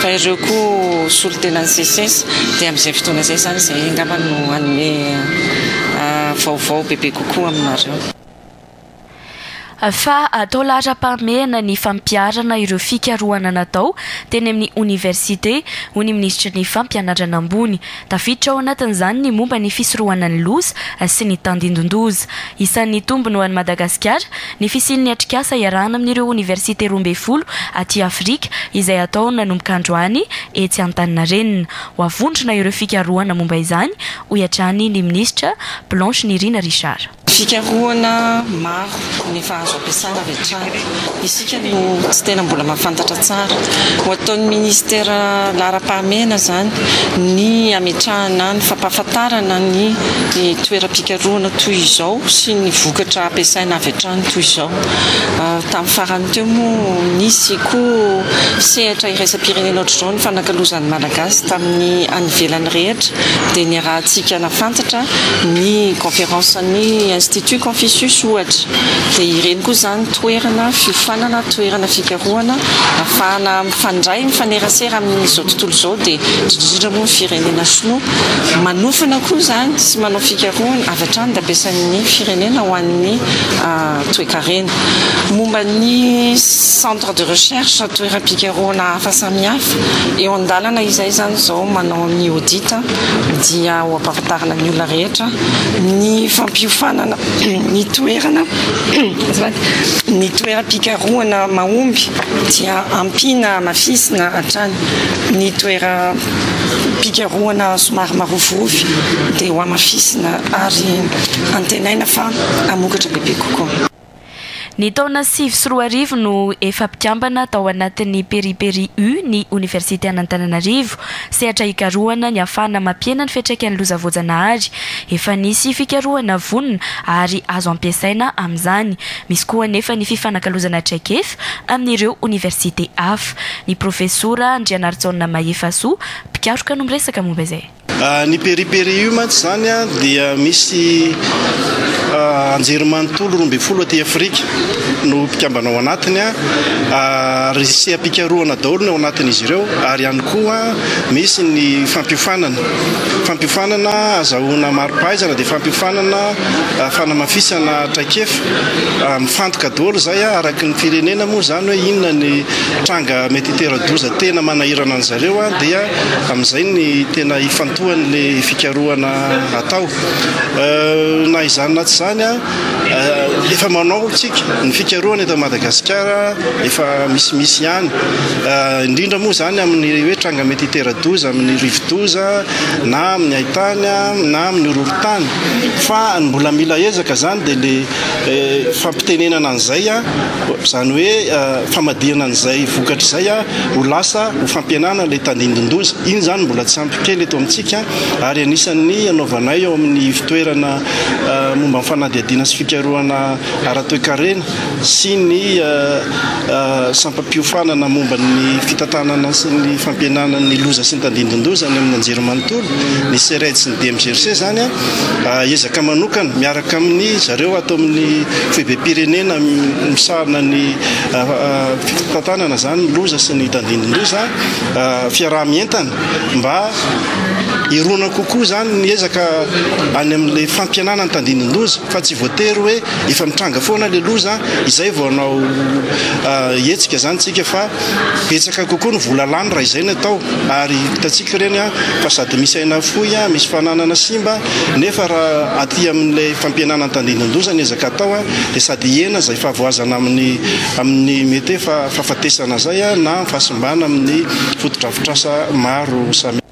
fa ireo koa solontenan'ny SECES dia amin'izay fotoana izay izany izahay angamba no hanome vaovao bebe kokoa aminareo. Fa atao laharam-pahamehana ny fampiharana ireo fikarohana natao teny amin'ny oniversite, hoy ny minisitry ny Fampianarana ambony. Tafiditra ao anatin'izany ny momba ny fisorohana ny loza sy ny tandindon-doza. Isan'ny tombony ho an'i Madagasikara ny fisian'ny atrikasa iarahana amin'ireo oniversite 12 aty Afrika izay hatao nanomboka androany etsy Antaninarenina. Ho avondrona ireo fikarohana momba izany, hoy hatrany ny minisitra Blanche Nirina Richard. Fikarohana maro no efa azo ampiasana avy hatrany. Isika no tsy tena mbola mahafantatra tsara. Ho ataon'ny minisitera laharam-pahamehana izany ny hametrahana ny fampahafantarana ny toeram-pikarohana toy izao sy ny vokatra ampiasaina avy hatrany toy izao. Tamin'ny farany teo moa nisy koa sehatra iraisam-pirenena ohatr'izao nifanakalozan'ny Malagasy tamin'ny any ivelany rehetra dia niarahantsika nahafantatra ny conférence ny Institut Confucius ohatra dia ireny koa izany toerana fiofanana, toerana fikarohana ahafahana mifandray, mifanerasera amin'izao tontolo izao dia indrindra indrindra moa ny firenena sinoa manofana koa izany sy manao fikarohana avy hatrany dia ampiasain'ny firenena ho an'ny toekarena. Momba ny centre de recherche, toeram-pikarohana hafa samihafa, eo an-dalana izay izany izao manao ny audit dia ho ampahafantarina ny olona rehetra ny fampiofanana ny toerana azafady ny toeram-pikarohana mahomby dia ampiana hamafisina hatrany ny toeram-pikarohana somary marovorofy dia ho hamafisina ary antenaina fa hamokatra bebe kokoa. Ny taona 2009 no efa mpikambana tao anatin'ny Peri-Peri U ny Oniversite an'Antananarivo, sehatra hikarohana ny hahafahana mampihena ny fiantraikan'ny loza voajanahary. Efa nisy fikarohana vonona ary azo ampiasaina amin'izany. Misy koa anefa ny fifanakalozana traikefa amin'ireo oniversite hafa. Ny Profesora Andrianarijaona Mahefasoa, mpikaroka no miresaka momba izay. Ny Peri-Peri io mantsy izany dia misy anjerimanontolo 12 aty Afrika no mpikambana ao anatiny ary seha-pikarohana daholo ny ao anatin'izy ireo ary ihany koa misy ny fampiofanana. Fampiofanana azahoana mari-pahaizana dia fampiofanana fanamafisana traikefa. Mifantoka daholo izay araka ny firenena moa izany hoe inona ny tranga mety hitera-doza tena manahirana an'zareo dia Amin'izay ny tena ifantohan'ilay fikarohana atao. Na izany na tsy izany, efa manao isika ny fikarohana eto Madagasikara, efa misimisy ihany. Indrindra moa izany amin'ny hoe tranga mety hitera-doza amin'ny rivodoza na amin'ny haintany na amin'ny horohorontany. Fa ny mbola mila ezaka izany dia ilay fampitenenana an'izay, izany hoe famadihana an'izay vokatra izay ho lasa ho fampihenana ilay tandindon-doza. Iny izany mbola tsy ampy kely eto amintsika ary anisan'ny anaovanay ao amin'ny ivon-toerana momba ny fanadihadiana sy fikarohana ara-toekarena sy ny sampam-piofanana momba ny fitantanana sy ny fampihenana ny loza sy ny tandindon-doza any amin'ny anjerimanontolo, ny CERED sy ny DMGRC izany, ezaka manokana miaraka amin'ny zareo ato amin'ny foibem-pirenena misahana ny Fitantanana izany ny loza sy ny tandindon-doza, fiaraha-mientana mba hirona kokoa izany ny ezaka any amin'ilay fampihenana ny tandindon-doza fa tsy voatery hoe efa mitranga foana ilay loza izay vao hanao hetsika izany tsika fa betsaka kokoa ny vola lany raha izay no atao ary hitantsika ireny fa sady misy aina afoy, misy fananana simba nefa raha aty amin'ilay fampihenana ny tandindon-doza ny ezaka atao dia sady hihena izay fahavoazana amin'ny amin'ny mety hoe fahafatesana izay na fahasimbana amin'ny fotodrafitrasa maro samihafa.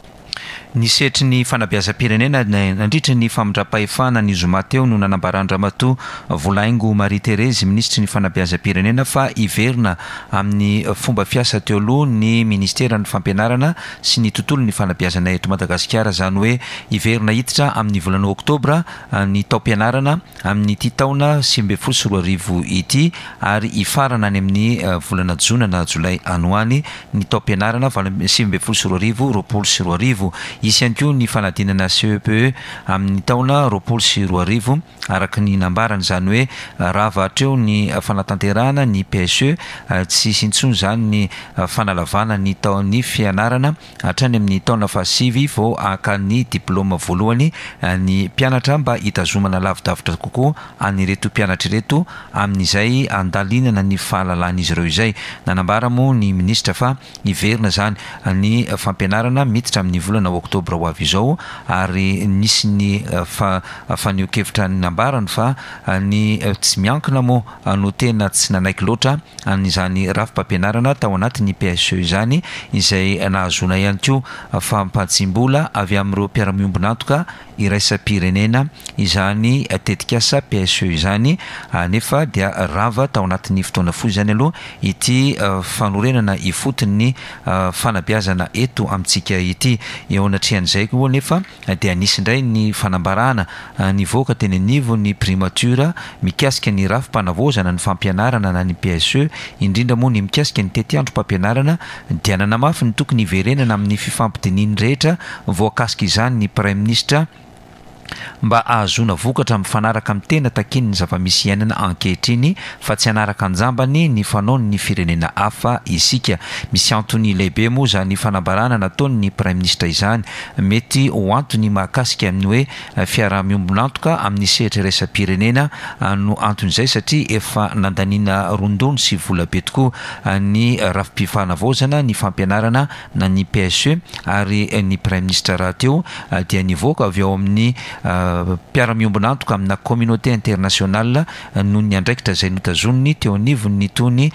Ny sehatry ny fanabeazam-pirenena nandritra ny famindram-pahefana ny zoma teo no nanambaran-dRamatoa Volahaingo Marie Therese, minisitry ny fanabeazam-pirenena fa hiverina amin'ny fomba fiasa teo aloha ny ministeran'ny fampianarana sy ny tontolon'ny fanabeazana eto Madagasikara, izany hoe hiverina hiditra amin'ny volana oktobra ny taom-pianarana amin'ity taona 2019 ity ary hifarana any amin'ny volana jona na jolay any ho any ny taom-pianarana 2019 2020. Hisy ihany koa ny fanadinana CEPE amin'ny taona 2020 araka ny nambarany, izany hoe rava hatreo ny fanatanterahana ny PSE, tsy hisy intsony izany ny fanalavana ny taon'ny fianarana. Hatrany amin'ny taona fahasivy vao haka ny diplaoma voalohany ny mpianatra mba hitazomana lavidavitra kokoa an'ireto mpianatra ireto amin'izay handalinana ny fahalalan'izy ireo izay. Nanambara moa ny minisitra fa hiverina izany ny fampianarana miditra amin'ny volana oktobra ho avy izao ary nisy ny fanehoan-kevitra nambarany fa ny tsy miankina moa no tena tsy nanaiky loatra an'izany rafi-pampianarana tao anatin'ny PSE izany, izay nahazoana ihany koa fampantsim-bola avy amin'ireo mpiara-miombon'antoka iraisam-pirenena izany tetikasa PSE izany, nefa dia rava tao anatin'ny fotoana fohy izany aloha ity fanorenana ifotony ny fanabeazana eto amintsika ity. Eo anatrehan'izay koa anefa dia nisy indray ny fanambarana nivoaka teny anivon'ny Primature mikasika ny rafi-panavaozana ny fampianarana na ny PSE, indrindra moa ny mikasika ny tetiandrom-pampianarana, dia nanamafy ny tokony hiverenana amin'ny fifampidinian'ny rehetra voakasika izany ny Praiminisitra mba hahazoana vokatra mifanaraka amin'ny tena takian'ny zava-misy iainana ankehitriny fa tsy hanaraka an-jambany ny fanaon'ny firenena hafa isika. Misy antony lehibe moa izany fanambarana nataon'ny Praiminisitra izany. Mety ho antony mahakasika ny hoe fiaraha-miombon'antoka amin'ny sehatra iraisam-pirenena no anton'izay satria efa nandaniana rondrony sy vola be tokoa ny rafi-pifanavaozana ny fampianarana na ny PSE ary ny Praiminisitra rahateo dia nivoaka avy ao amin'ny mpiara-miombon'antoka amina communauté internationale noho ny andraikitra izay notazoniny teo anivon'itony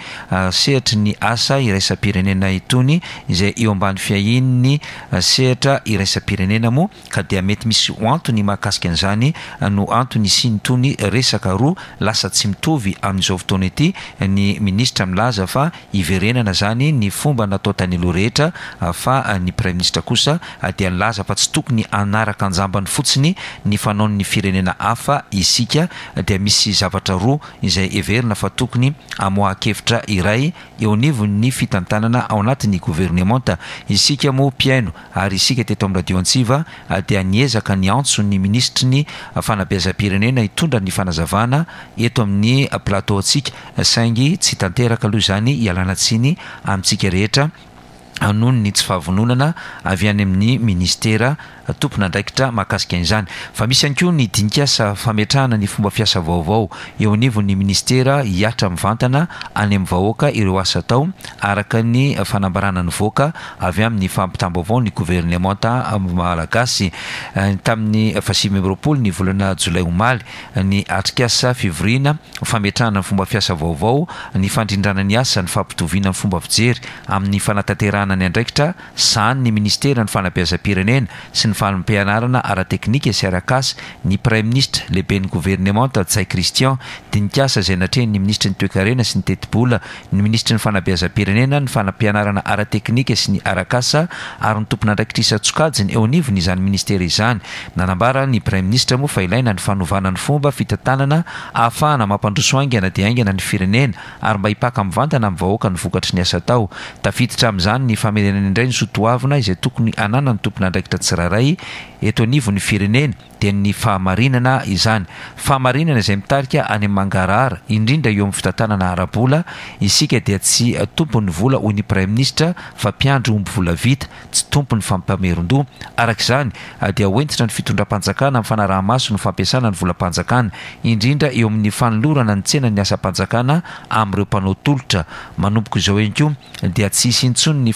sehatry ny asa iraisam-pirenena itony izay eo ambany fiahian'ny sehatra iraisam-pirenena moa ka dia mety misy antony mahakasika an'izany no antony hisian'itony resaka roa lasa tsy mitovy amin'izao fotoana ity ny minisitra milaza fa hiverenana izany ny fomba natao tany aloha rehetra fa ny praiminisitra kosa dia nilaza fa tsy tokony hanaraka anjambany fotsiny ny fanaon'ny firenena hafa isika dia misy zavatra roa izay heverina fa tokony hamoahan-kevitra iray eo anivon'ny fitantanana ao anatin'ny governemanta. Isika moa mpihaino ary isika teto amin'ny Radio Antsiva dia niezaka niantso ny minisitry ny fanabeazam-pirenena hitondra ny fanazavana eto amin'ny plateau antsika saingy tsy tanteraka aloha izany ialana tsiny amintsika rehetra noho ny tsy fahavononana avy any amin'ny minisitera tompon'andraikitra mahakasika an'izany. Fa misy ihany koa ny dinikasa fametrahana ny fomba fiasa vaovao eo anivon'ny minisitera hihatra mivantana any amin'ny vahoaka ireo asa atao araka ny fanambarana nivoaka avy amin'ny fampitam-baovao ny governemanta malagasy tamin'ny fahasivy 29 ny volana jolay omaly ny atrikasa fivoriana fametrahana ny fomba fiasa vaovao, ny fandrindrana ny asa, ny fampitoviana ny fomba fijery amin'ny fanatanterahana ny andraikitra sahanin'ny minisiteran'ny Fanabeazam-pirenena sy ny Fampianarana ara-teknika sy ara-kasa, ny Praiminisitra, lehiben'ny governemanta Ntsay Christian, dinikasa izay natrehin'ny minisitry ny Toekarena sy ny Tetibola, ny minisitry ny Fanabeazam-pirenena, ny Fanampianarana ara-teknika sy ny ara-kasa ary ny tompon'andraikitra isan-tsokajiny eo anivon'izany minisitera izany. Nanambara ny Praiminisitra moa fa ilaina ny fanovana ny fomba fitantanana ahafahana mampandroso haingana dia haingana ny firenena ary mba hipaka mivantana amin'ny vahoaka ny vokatry ny asa atao. Tafiditra amin'izany ny famerenana indray ny soa toavina izay tokony hananan'ny tompon'andraikitra tsirairay eto anivon'ny firenena, dia ny fahamarinana izany. Fahamarinana izay mitarika any amin'ny mangarahara, indrindra eo amin'ny fitantanana ara-bola. Isika dia tsy tompon'ny vola hoy ny Praiminisitra fa mpiandry omby volavita. tsy tompon'ny fampamerin-doha. Araka izany, dia ho hentitra ny fitondram-panjakana amin'ny fanaraha-maso ny fampiasana ny volam-panjakana, indrindra eo amin'ny fanolorana ny tsenan'ny asam-panjakana amin'ireo mpanao tolotra. Manomboka izao ihany koa, dia tsy hisy intsony ny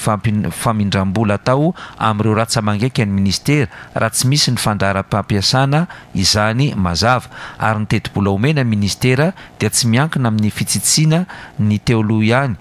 famindram-bola atao amin'ireo ratsa-mangaika ny minisitera raha tsy misy ny fandaharam-pampiasana izany mazava. Ary ny tetibola omena ny minisitera dia tsy miankina amin'ny fitsitsiana ny teo aloha ihany,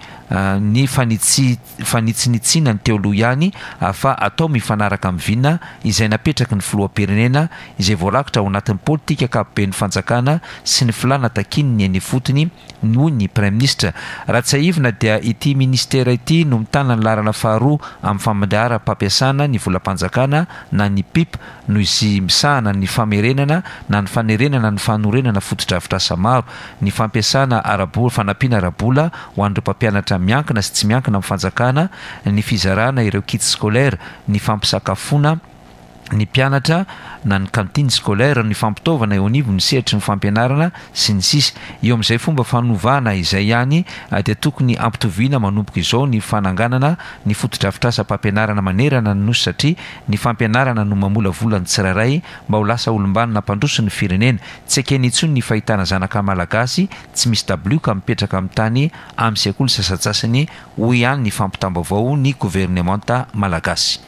ny fanitsinitsiana ny teo aloha ihany fa atao mifanaraka amin'ny vina izay napetraky ny filoham-pirenena izay voarakitra ao anatin'ny politika ankapoben'ny fanjakana sy ny filàna takian'ny eny ifotony hoy ny praiminisitra. Raha tsiahivina dia ity minisitera ity no mitana ny laharana faharoa amin'ny famandaharam-pampiasana ny volam-panjakana na ny pip noho izy misahana ny famerenana na ny fanerenana ny fanorenana fotodrafitrasa maro, ny fampiasana ara-bola, fanampiana ara-bola ho an'ireo mpampianatra miankina sy tsy miankina amin'ny fanjakana, ny fizarana ireo kits scolaires, ny fampisakafoana ny mpianatra na ny cantine scolaire, ny fampitaovana eo anivon'ny sehatry ny fampianarana, sy ny sisa Eo amin'izay fomba fanovana izay ihany dia tokony hampitoviana manomboka izao ny fananganana ny fotodrafitrasam-pampianarana manerana ny Nosy satria ny fampianarana no mamolavola ny tsirairay mba ho lasa olom-banona mpandroso ny firenena. Tsy ekena intsony ny fahitana zanaka Malagasy tsy misy dabilio ka mipetraka amin'ny tany amin'ny sekoly sasantsasany, hoy ihany ny fampitam-baovao ny governemanta Malagasy.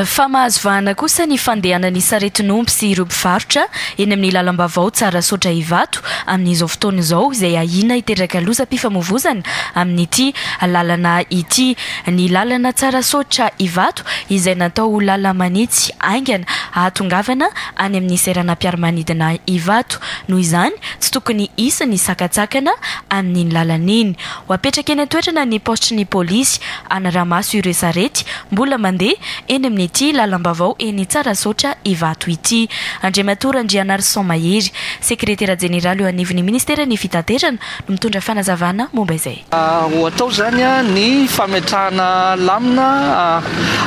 Fa mahazo vahana kosa ny fandehanan'ny saretin'omby sy ireo mpivarotra eny amin'ny lalam-baovao Tsarasaotra Ivato amin'izao fotoana izao izay ahiana hiteraka lozam-pifamoivozana amin'ity lalana ity. Ny lalana Tsarasaotra Ivato izay natao ho lala-manitsy haingana hahatongavana any amin'ny seranam-piaramanidina Ivato. Noho izany, tsy tokony hisy ny sakantsakana amin'iny lalana iny. Ho apetraka eny an-toerana ny paositry ny polisy hanara-maso ireo sarety mbola mandeha eny amin'ity lalam-baovao eny Tsarasaotra Ivato ity. Andriamatoa Randrianarison Mahery, sekretera jeneraly eo anivon'ny ministeran'ny fitaterana no mitondra fanazavana momba izay. Ho atao izany ny fametrahana lamina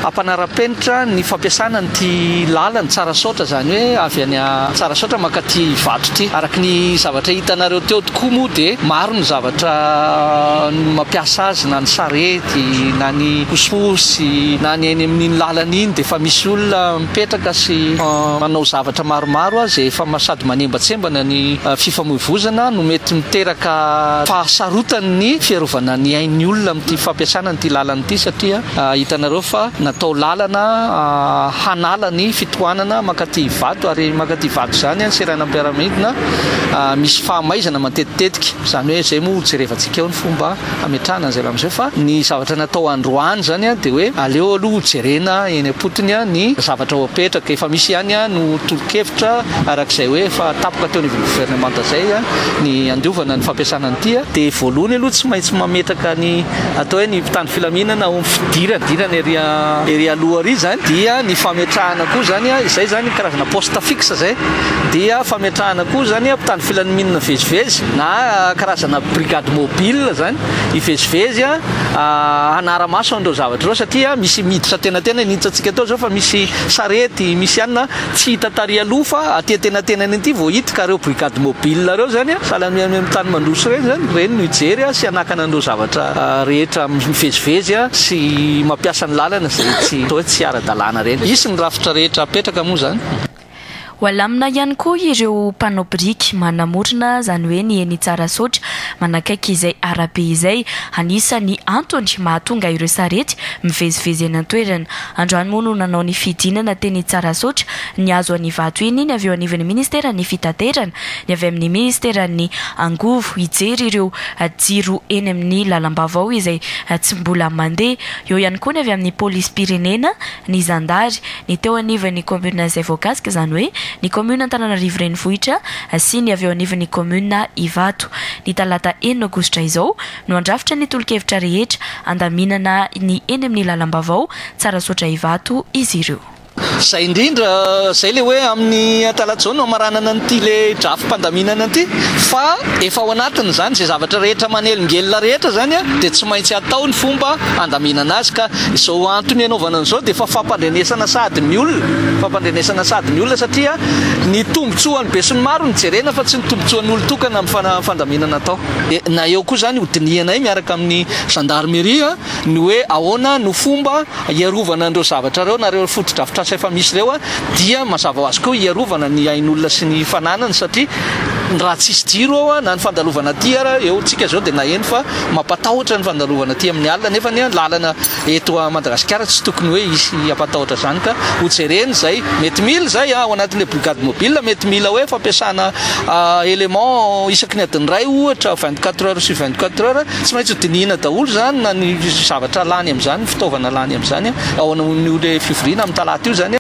hampanara-penitra ny fampiasana an'ity lalana Tsarasaotra, izany hoe avy any Tsarasaotra mankaty Ivato ity. Araka ny zavatra hitanareo teo tokoa moa dia maro ny zavatra mampiasa azy na ny sarety na ny posiposy na ny eny amin'iny lalana iny dia efa misy olona mipetraka sy manao zavatra maromaro izay efa sady manembatsembana ny fifamoivozana no mety miteraka fahasarotan'ny fiarovana ny ain'ny olona amin'ity fampiasana an'ity lalana ity satria hitanareo fa na. natao lalana hanala ny fitohanana mankaty Ivato ary mankaty Ivato izany ny seranam-piaramanidina misy fahamaizana matetitetika. Izany hoe izay moa hojerevantsika eo ny fomba hametrahana an'izay amin'izay fa ny zavatra natao androany izany dia hoe aleo aloha hojerena eny am-potony ny zavatra ho apetraka. Efa misy ihany no tolo-kevitra araka izay hoe efa tapoka teo anivon'ny governemanta izay ny handiovana ny fampiasana an'ity. Dia voalohany aloha tsy maintsy mametraka ny atao hoe ny mpitandro filaminana ao amin'ny fidirana, fidirana ery ery aloha ery izany dia ny fametrahana koa izany, izay izany karazana poste fixe izay, dia fametrahana koa izany mpitandro filaminana mivezivezy na karazana brigade mobile izany hivezivezy hanara-maso an'ireo zavatra ireo satria misy miditra antenatenany, hitantsika teo izao fa misy sarety, misy anona tsy hita tary aloha fa aty antenatenany aty vao hita ka ireo brigade mobile ireo izany sahala amin'ny any amin'ny tany mandroso ireny izany, ireny no hijery sy hanakana an'ireo zavatra rehetra mivezivezy sy mampiasa ny lalana izay tsy atao hoe tsy ara-dalàna ireny. Hisy ny rafitra rehetra apetraka moa izany. Ho alamina ihany koa ireo mpanao biriky manamorona izany hoe ny eny Tsarasaotra manakaiky izay arabe izay. Anisan'ny antony mahatonga ireo sarety mivezivezy eny an-toerana. Androany moa no nanao ny fidinana teny Tsarasaotra nihazo an'Ivato iny ny avy eo anivon'ny ministeran'ny fitaterana, ny avy amin'ny ministeran'ny angovo hijery ireo jiro eny amin'ny lalam-baovao izay tsy mbola mandeha. Eo ihany koa ny avy amin'ny polisim-pirenena, ny zandary, ny teo anivon'ny kaominina izay voakasika, izany hoe ny kaominina Antananarivo Renivohitra sy ny avy eo anivon'ny kaominina Ivato. Ny talata enina aogositra izao no handrafitra ny tolo-kevitra rehetra handaminana ny eny amin'ny lalam-baovao Tsarasaotra Ivato izy ireo. Izay indrindra, izay ilay hoe amin'ny talata izao no hamaranana an'ity ilay drafi-pandaminana ity fa efa ao anatin'izany izay zavatra rehetra manelingelina rehetra izany dia tsy maintsy atao ny fomba handaminana azy ka Izao antony anaovana an'izao dia efa fampandrenesana sahady ny olona, fampandrenesana sahady ny olona satria ny tombontsoan'ny besinimaro no jerena fa tsy ny tombontsoan'olon-tokana amin'ny fandaminana atao. Na eo koa izany hodinihanay miaraka amin'ny gendarmerie ny hoe ahoana no fomba hiarovana an'ireo zavatra ireo na ireo fotodrafitrasa efa misy ireo dia mazava ho azy koa hiarovana ny ain'olona sy ny fananany satria raha tsisy jiro ao na ny fandalovana aty ara eo tsika izao dia naheno fa Mampatahotra ny fandalovana aty amin'ny alina nefa ny lalana eto Madagasikara tsy tokony hoe hisy hampatahotra izany ka ho jerena izay mety mila izay ao anatin'ilay brigade mobile mety mila hoe fampiasana élément isaky ny adiny iray ohatra 24 heures sur 24 heures tsy maintsy ho dinihina daholo izany na ny zavatra lany amin'izany ny fitaovana lany amin'izany ao amin'io ilay fivoriana amin'ny talata io izany.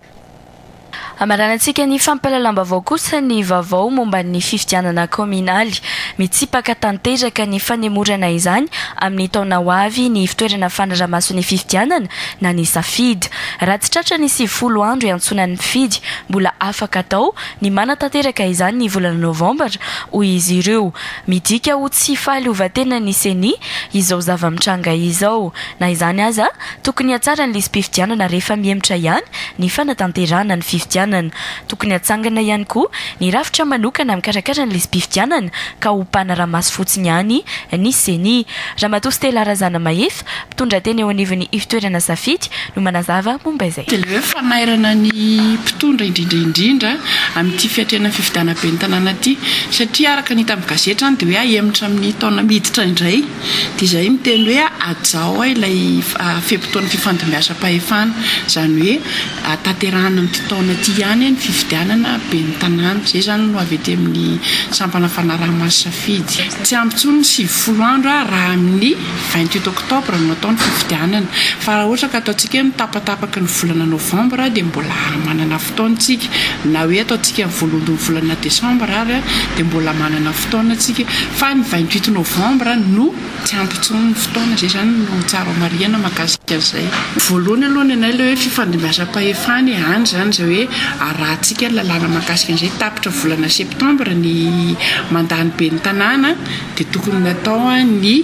Hamaranantsika ny fampahalalam-baovao kosa ny vaovao momba ny fifidianana kaominaly. Mitsipaka tanteraka ny fanemorana izany amin'ny taona ho avy ny ivtoerana fanaraha-maso ny fifidianana na ny Safidy. Raha tsy tratra ny 90 andro iantsoana ny mpifidy, mbola afaka atao ny manatanteraka izany ny volana novambra, hoy izy ireo. Midika ho tsy fahaleovantenan'ny Ceni izao zava-mitranga izao. Na izany aza, tokony hatsara ny lisi-pifidianana rehefa mihemotra ihany ny fanatanterahana ny fifidianana. Tokony hatsangana ihany koa ny rafitra manokana mikarakara ny lisi-pifidianana ka ho mpanara-maso fotsiny ihany ny Ceni. Ramatoa Stella Razanamahefa, mpitondra teny eo anivon'ny ivtoerana Safidy no manazava momba izay. Dia ilay hoe fanairana ny mpitondra indrindra indrindra amin'ity fiatrehana ny fifidianana ben'ny tanàna ity satria araka ny hita amin'ny gazety izany dia hoe ahemotra amin'ny taona miditra indray. Dia izay miteny hoe hajao ilay fe-potoana fifandimbiasam-pahefana, izany hoe tanterahina amin'ity taona ity ihany ny fifidianana ben'ny tanàna. Izay izany no avy ety amin'ny sampana fanaraha-maso safidy. Tsy ampy intsony ny 90 andro raha amin'ny 28 octobre no atao ny fifidianana. Fa raha ohatra ka ataontsika hoe mitapatapaky ny volana novambra dia mbola manana fotoana isika. Na hoe ataontsika ny voalohany volana desambra ary dia mbola manana fotoana isika. Fa ny 28 novembre no tsy ampy intsony ny fotoana, izay izany no tsara ho marihana mahakasika an'izay. Voalohany aloha ny anay ilay hoe fifandimbiasam-pahefana e, any izany izay hoe arahantsika ny lalàna mahakasika an'izay, tapitra volana septembre ny mandat ny ben'ny tanàna dia tokony natao ny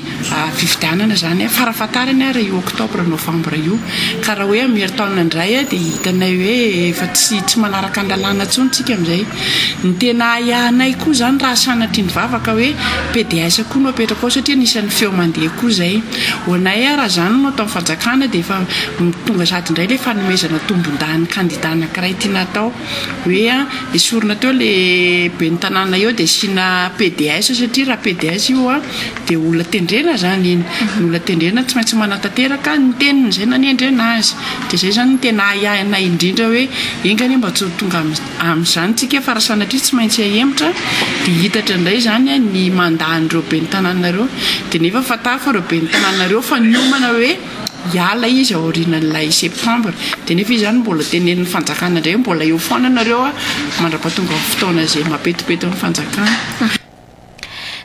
fifidianana izany farafahatarany ary io octobre novembre io, ka raha hoe amin'ny herintaona indray dia hitanay hoe efa tsy tsy manaraka ny lalàna intsony isika amin'izay. Ny tena ahiahinay koa izany raha sanatria ny vava ka hoe pds koa no apetraka ao satria anisan'ny feo mandeha koa izay. Ho anay raha izany no ataon'ny fanjakana dia efa tonga sahady indray ilay fanomezana tombondany kandida anankiray tiana. natao hoe esorina teo le ben'ny tanàna eo dia asiana PDS satria raha PDS io dia olona tendrena izany iny. Ny olona tendrena tsy maintsy manatanteraka ny teniny izay nanendrena azy. Dia izay izany no tena ahiahinay indrindra hoe enga anie mba tsy ho tonga amin'izany isika fa raha sanatria tsy maintsy hahemotra dia hiitatra indray izany ny mandat an'ireo ben'ny tanàna ireo. Dia nefa fantaro fa ireo ben'ny tanàna ireo efa niomana hoe hiala izy aorianan'ilay septembre. Dia nefa izy izany mbola tenenin'ny fanjakana indray hoe mbola eo foana nareo mandra-pahatonga ny fotoana izay mampetipety ny fanjakana.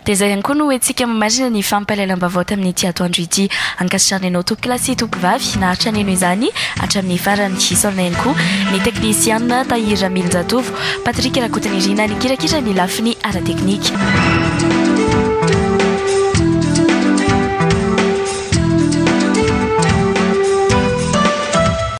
Dia izay ihany koa no hoentintsika mamarina ny fampahalalam-baovao tamin'ity atoandro ity. Ankasitrahana ianao tompokolahy sy tompovavy naharitra nino izany hatramin'ny farany. Isaorana ihany koa ny teknisiana Tahiry Ramilinjatovo, Patrick Rakotonirina nikirakira ny lafiny ara-teknika.